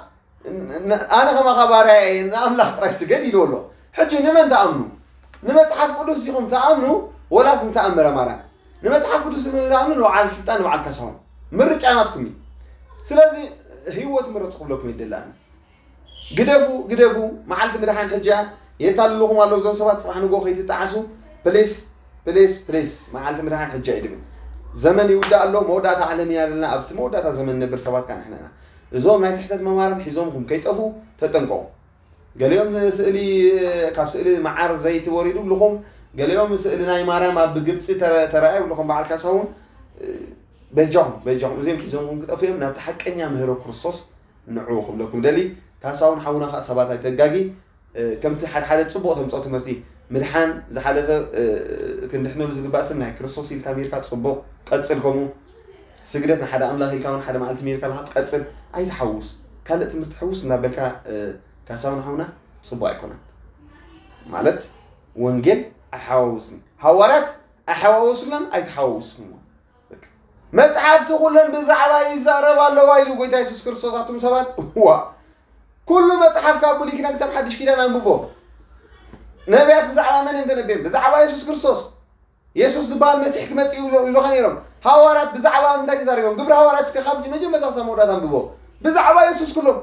ን-፣ ን-፣ ኣነ ከማኻ ባርያ እየ፣ ንኣምላኽ ጥራይ ስገድ ኢልዎ ኣሎ። ሕጂ ንመን ትኣምኑ? ንመጽሓፍ ቅዱስ ኢኹም ትኣምኑ ወላስ ንተኣምረ ማርያም? ንመጽሓፍ ቅዱስ ኢኹም ትኣምኑ ንበዓል ስልጣን ንበዓል ካሳሁን? ምርጫ ናትኩም እዩ። ስለዚ ህይወት ምረጹ ክብለኩም ይደሊ ኣነ። ግደፉ፣ ግደፉ፣ መዓልቲ ምድሓን ሕጂ እያ። የታልልኹም ኣለዉ እዞም ሰባት፣ ጽባሕ ንግሆ ከይትጠዓሱ። ፕሊስ፣ ፕሊስ፣ ፕሊስ፣ መዓልቲ ምድሓን ሕጂ እያ ይድብል። ዘመን ይውዳእ ኣሎ፣ መወዳእታ ዓለም ኢና ዘለና። ኣብቲ መወዳእታ ዘመን ንነብር ሰባት ከኣ ንሕና ኢና። እዞም ናይ ስሕተት መማርን ሒዞምኩም ከይጠፉ ተጠንቀቑ። ገሊኦም ስእሊ፣ ካብ ስእሊ መዓር ዘይቲ ወሪዱ ብልኹም፣ ገሊኦም ስእሊ ናይ ማርያም ኣብ ግብፂ ተረ-፣ ተራእዩ ብልኹም፣ በዓል ካሳሁን፣ በጃኹም፣ በጃኹም፣ እዚኦም ሒዞምኩም ክጠፉ እዮም። ናብቲ ሓቀኛ ምህሮ ክርስቶስ ንዑ ክብለኩም ደሊ። ካሳሁን ሓውና ከዓ ሰባት ኣይተጋጊ። ከምቲ ሓደ ሓደ ጽቡቕ ተምጽኦ ትምህርቲ፣ ምድሓን ዝሓለፈ ክንድሕነሉ ዝግባእ ስም ናይ ክርስቶስ ኢልካ ሜርካ ጽቡቕ ቀጽል። ከምኡ ስግደት ንሓደ ኣምላኽ ኢልካ እውን ሓደ መዓልቲ ሜርካ ኣለኻ ቀጽል። ኣይትሓውስ፣ ካልእ ትምህርቲ ሕውስ እናበልካ ካሳሁን ሓውና ጽቡቕ ኣይኮነን። ማለት ወንጌል ኣይሓዋውስን፣ ሃዋርያት ኣይሓዋወሱላን፣ ኣይትሓዋውስን። መጽሓፍቲ ኩለን ብዛዕባ ይዛረብ ኣለዋ ኢሉ ጎይታ የሱስ ክርስቶስ። ኣቱም ሰባት፣ ዋ፣ ኩሉ መጽሓፍ ካብ ብሉይ ኪዳን ክሳብ ሓድሽ ኪዳን ኣንብቦ። ነቢያት ብዛዕባ መን እዮም ተነብዮም? ብዛዕባ የሱስ ክርስቶስ። የሱስ ዝበሃል መሲሕ ክመጽእ ይብሉ፣ ይብሉኻ ነይሮም። ሃዋርያት ብዛዕባ እንታይ ተዛሪቦም? ግብሪ ሃዋርያት እስከ ካብ መጀመርታ ክሳብ መወዳእታ ኣንብቦ። ብዛዕባ የሱስ ኩሎም።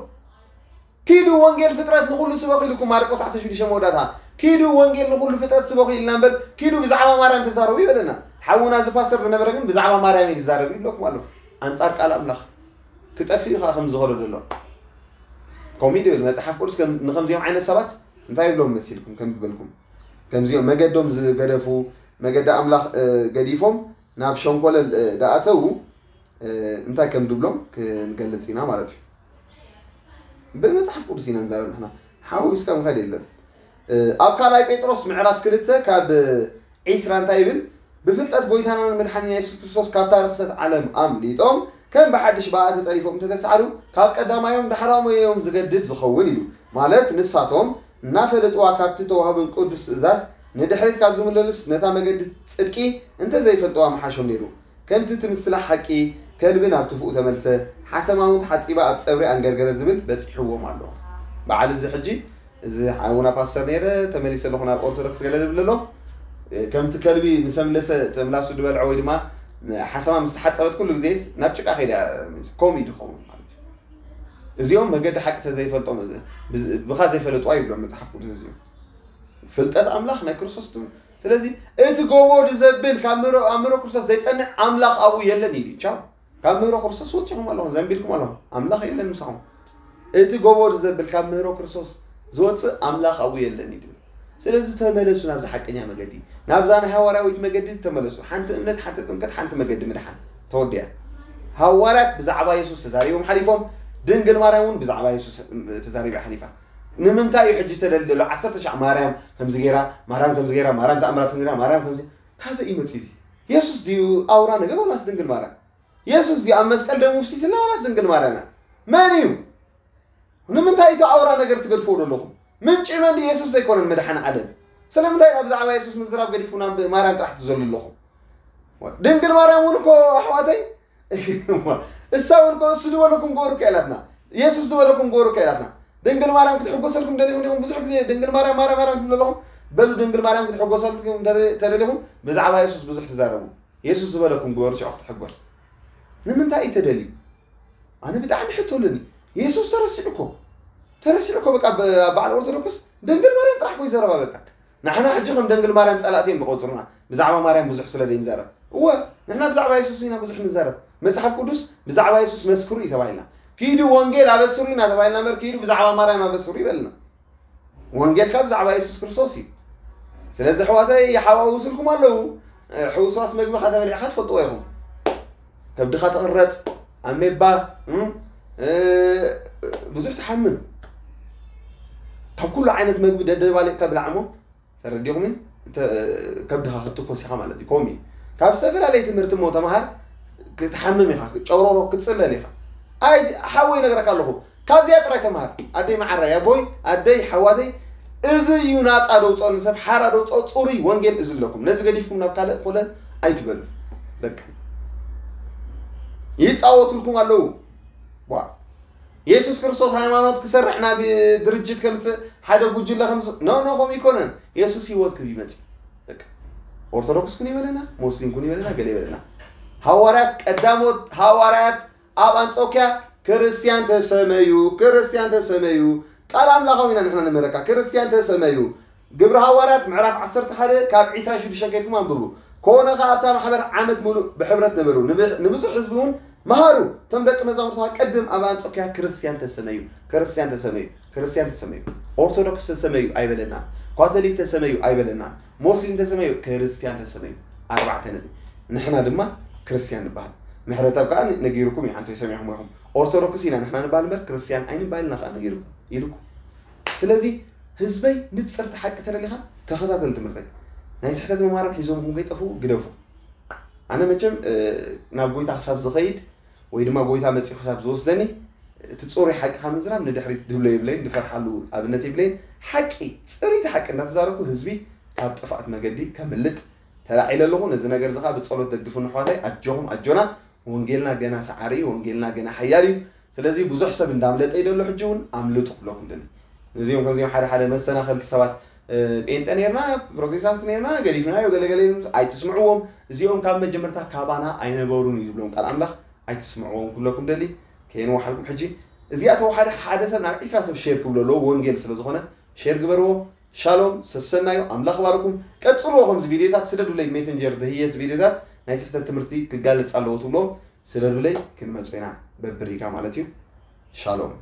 ኪዱ ወንጌል ፍጥረት ንኹሉ ስበኹ ኢልኩም ማርቆስ ዓሰርተ ሽዱሽተ መወዳእታ። ኪዱ ወንጌል ንኹሉ ፍጥረት ስበኹ ኢልና እምበር፣ ኪዱ ብዛዕባ ማርያም ተዛረቡ ይበለና። ሓውና እዚ ፓስተር ዝነበረ ግን ብዛዕባ ማርያም እዩ ዝዛረብ ይብለኩም ኣሎ። ኣንጻር ቃል ኣምላኽ ክጠፍእ እዩ ከዓ ከም ዝኸዶ ዘሎ። ከምኡ እዩ ዝብል መጽሓፍ ቅዱስ። ከም-፣ ንከምዚኦም ዓይነት ሰባት እንታይ ይብሎም መሲልኩም? ከም ዝበልኩም፣ ከምዚኦም መገዶም ዝገደፉ፣ መገዲ ኣምላኽ፣ እ፣ ገዲፎም ናብ ሸንኮለል፣ እ፣ ደኣተዉ፣ እ፣ እንታይ ከም ድብሎም ክንገልጽ ኢና ማለት እዩ። ብመጽሓፍ ቅዱስ ኢና ንዛረብ ንሕና። ሓዊስካ ምኻድ የለን። እ፣ ኣብ ካልኣይ ጴጥሮስ ምዕራፍ ክልተ ካብ ዒስራ እንታይ ይብል? ብፍልጠት ጎይታናን መድሓኒና የሱስ ክርስቶስ ካብታ ርኽሰት ዓለም ኣምሊጦም ከም ብሓድሽ ብኣ ተጠሪፎም እንተተሳዕሩ፣ ካብ ቀዳማዮም ዳሕራዮም ዝገድድ ዝኸውን ኢሉ። ማለት ንሳቶም እናፈለጥዋ ካብቲ ተዋህቦም ቅዱስ ትእዛዝ ንድሕሪት ካብ ዝምለሉስ ነታ መገዲ ጽድቂ እንተዘይፈልጥዋ ምሓሾም ነይሩ። ከምቲ እቲ ምስላ ሓቂ ከልቢ ናብ ትፍኡ ተመልሰ፣ ሓሰማ እውን ተሓጺባ ኣብ ጸብሪ ኣንገርገረ ዝብል በጺሕዎም ኣሎ። በዓል እዚ ሕጂ፣ እዚ ሓውና ፓስተር ነይረ፣ ተመሊሰ ኣለኹ ናብ ኦርቶዶክስ ገለ ዝብል ኣሎ። ከምቲ ከልቢ ምስ ኣምለሰ፣ እቲ ምላሱ ዝበልዖ ወይ ድማ ሓሰማ ምስ ተሓጸበት ኩሉ ግዜ ናብ ጭቃ ከይዳ፣ ከምኡ እዩ ዝኸውን ማለት እዩ። እዚኦም መገዲ ሓቂ ተዘይፈልጦም፣ ብዝ-፣ ብኻ ዘይፈለጥዋ ይብሎም መጽሓፍ ቅዱስ እዚኦም። ፍልጠት ኣምላኽ ናይ ክርስቶስ ትም-፣ ስለዚ እቲ ጎቦ ድዘብል ካብ ምሮ-፣ ኣብ ምሮ ክርስቶስ ዘይጸንዕ ኣምላኽ ኣብኡ የለን ኢሉ። ቻው። ካብ ምህሮ ክርስቶስ ወጺኹም ኣለኹም፣ ዘንቢልኩም ኣለኹም። ኣምላኽ የለን ምሳኹም። እቲ ጎቦ ድዘብል ካብ ምህሮ ክርስቶስ ዝወጽእ ኣምላኽ ኣብኡ የለን ኢሉ። ስለዚ ተመለሱ ናብዛ ሓቀኛ መገዲ፣ ናብዛ ናይ ሃዋርያዊት መገዲ ተመለሱ። ሓንቲ እምነት፣ ሓንቲ ጥምቀት፣ ሓንቲ መገዲ ምድሓን ተወዲኣ። ሃዋርያት ብዛዕባ የሱስ ተዛሪቦም ሓሊፎም፣ ድንግል ማርያም እውን ብዛዕባ የሱስ ተዛሪባ ሓሊፋ። ንምንታይ እዩ ሕጂ ተደሊ ዘሎ? ዓሰርተ ሻዕ ማርያም ከምዚ ገይራ፣ ማርያም ከምዚ ገይራ፣ ማርያም ተኣምራት ከምዚ ገይራ፣ ማርያም ከምዚ፣ ካበይ እዩ መፂኡ እዚ? የሱስ ድዩ ኣውራ ነገር ወላስ ድንግል ማርያም? የሱስ ድዩ ኣብ መስቀል ደሙ ፍሲስና ወላስ ድንግል ማርያም እያ? መን እዩ? ንምንታይ እቲ ኣውራ ነገር ትገድፍዎ ዘለኹም? ምንጪ መን ድዩ? የሱስ ዘይኮነን መድሓኒ ዓለም? ስለምንታይ ኢና ብዛዕባ የሱስ ምዝራብ ገዲፍኩም ናብ ማርያም ጥራሕ ትዘሉ ኣለኹም? ድንግል ማርያም እውን እኮ ኣሕዋተይ፣ እሳ እውን እኮ እሱ ዝበለኩም ግበሩ እኮ ኢላትና። የሱስ ዝበለኩም ግበሩ እኮ ኢላትና። ድንግል ማርያም ክትሕጎሰልኩም ደሊኹም ዲኹም? ብዙሕ ግዜ ድንግል ማርያም፣ ማርያም፣ ማርያም ትብሉ ኣለኹም። በሉ ድንግል ማርያም ክትሕጎሰልኩም ተደ-፣ ተደሊኹም ብዛዕባ የሱስ ብዙሕ ትዛረቡ። የሱስ ዝበለኩም ግበሩ ሽዑ ክትሕጎስ። ንምንታይ እዩ ተደልዩ? ኣነ ብጣዕሚ ሕቶ ኣለኒ። የሱስ ተረሲዑ እኮ። ተረሲዑ እኮ በቃ ብ-፣ ኣብ በዓል ኦርቶዶክስ ድንግል ማርያም ጥራሕ እኮ ይዘረባ በቃ። ንሕና ሕጂ ከም ደንግል ማርያም ጸላእቲ እዮም ዝቆጽሩና። ብዛዕባ ማርያም ብዙሕ ስለ ዘይንዛረብ። እወ፣ ንሕና ብዛዕባ የሱስ ኢና ብዙሕ ንዛረብ። መጽሓፍ ቅዱስ ብዛዕባ የሱስ መስክሩ እዩ ተባሂልና። ኪዱ ወንጌል ኣበስሩ ኢና ተባሂልና እምበር ኪዱ ብዛዕባ ማርያም ኣበስሩ ይበልና። ወንጌል ካብ ብዛዕባ የሱስ ክርስቶስ እዩ። ስለዚ ኣሕዋተይ ይሓዋውስልኩም ኣለዉ። ሕውስዋስ መግቢ ከተበሊዕካ ትፈልጥዎ ኢኹም። ከብድኻ ትቕረጽ፣ ኣሜባ፣ እም፣ እ፣ ብዙሕ ትሓምም። ካብ ኩሉ ዓይነት መግቢ ደደባሊቕካ ብላዕ እሞ ተረዲኹም? እንተ-፣ ከብድኻ ክትኮስ ኢኻ ማለት እዩ። ከምኡ እዩ። ካብ ዝተፈላለየ ትምህርቲ እሞ ተምሃር፣ ክትሓምም ኢኻ፣ ጨውሮሮ ክትጽለል ኢኻ። ኣይ፣ ሓወይ ይነግረካ ኣለኹ፣ ካብዚኣ ጥራይ ተምሃር። ኣደይ መዓራይ፣ ኣቦይ፣ ኣደይ፣ ሓዋተይ፣ እዚ እዩ ናጻ ደውጾ ንሰብ፣ ሓራ ደውጾ፣ ጽሩይ ወንጌል እዚ ኣለኩም። ነዚ ገዲፍኩም ናብ ካልእ ኮለ ኣይትበሉ። በቃ። ይጻወቱልኩም ኣለዉ። ዋ። የሱስ ክርስቶስ ሃይማኖት ክሰርሕ ናብ ድርጅት ከምጽእ፣ ሓደ ጉጅለ ከምጽእ፣ ኖ፣ ኖ፣ ከምኡ ኣይኮነን። የሱስ ህይወት ክህብ ይመጽእ። በቃ። ኦርቶዶክስ ኩን ይበለና፣ ሙስሊም ኩን ይበለና፣ ገለ ይበለና። ሃዋርያት ቀዳሞት ሃዋርያት ኣብ ኣንጾኪያ ክርስትያን ተሰመዩ፣ ክርስትያን ተሰመዩ። ቃል ኣምላኻዊ ኢና ንሕና ንምህረካ። ክርስትያን ተሰመዩ። ግብሪ ሃዋርያት ምዕራፍ ዓሰርተ ሓደ ካብ ዒስራ ሽዱሽተ ከይድኩም ኣንብቡ። ኮነ ከኣ ኣብታ ማሕበር ዓመት ሙሉእ ብሕብረት ነበሩ። ንብ- ንብዙሕ ህዝቢ እውን መሃሩ። እቶም ደቂ መዛሙርትኻ ቅድም ኣብ ኣንጾክያ ክርስትያን ተሰመዩ፣ ክርስትያን ተሰመዩ፣ ክርስትያን ተሰመዩ፣ ኦርቶዶክስ ተሰመዩ ኣይበለናን፣ ካቶሊክ ተሰመዩ ኣይበለናን፣ ሞስሊም ተሰመዩ፣ ክርስትያን ተሰመዩ። ኣርባዕተ ነጥቢ። ንሕና ድማ ክርስትያን ንበሃል። ምሕረተኣብ ከኣ ነጊሩኩም እዩ፣ ሓንቲ ሰሚዕኹም ኢኹም። ኦርቶዶክስ ኢና ንሕና ንበሃል እምበር ክርስትያን ኣይንበሃል ኢና ከኣ ነጊሩኩም ኢሉኩም። ስለዚ ህዝበይ ንጽርቲ ሓቂ ተደሊኻ ተኸታተል ትምህርተይ። ናይ ስሕተት መማራት ሒዞምኹም ከይጠፍኡ ግደፉ። ኣነ መቸም ናብ ጎይታ ክሳብ ዝኸይድ ወይ ድማ ጎይታ መጺኡ ክሳብ ዝወስደኒ እቲ ጽሩይ ሓቂ ካብ ምዝራብ ንድሕሪት ድብሎ የብለይን፣ ድፈርሓሉ ኣብነት የብለይን። ሓቂ፣ ጽርይቲ ሓቂ እንዳተዛረብኩ ህዝቢ ካብ ጥፍኣት መገዲ ከምልጥ ተላዒለ ኣለኹ። ነዚ ነገር እዚ ከዓ ብጸሎት ደግፉ ኣሕዋተይ። ኣጆኹም ኣጆና። ወንጌልና ገና ሰዓሪ እዩ። ወንጌልና ገና ሓያል እዩ። ስለዚ ብዙሕ ሰብ እንዳምለጠ ይደሎ። ሕጂ እውን ኣምልጡ ክብለኩም ደሊ። ነዚኦም ከምዚኦም ሓደ ሓደ መሰናኸልቲ ሰባት ጴንጠ ነርና፣ ፕሮቴስታንት ነርና፣ ገዲፍናዮ፣ ገለገለ ኣይትስምዕዎም። እዚኦም ካብ መጀመርታ ካባና ኣይነበሩን እዩ ዝብሎም ቃል ኣምላኽ። ኣይትስምዕዎም ክብለኩም ደሊ። ከየንውሓልኩም ሕጂ እዚኣ ተወሓደ ሓደ ሰብ ናብ ዒስራ ሰብ ሼር ክብሎ ኣለዎ። ወንጌል ስለ ዝኾነ ሼር ግበርዎ። ሻሎም ሰሰናዩ ኣምላኽ ባርኩም። ቀጽልዎ ከምዚ ቪድዮታት ስደዱለይ ሜሰንጀር ደህየስ ቪድዮታት ናይ ስሕተት ትምህርቲ ክጋለጽ ኣለዎ ትብሎም ስደዱለይ። ክንመጽ ኢና በብሪጋ ማለት እዩ። ሻሎም።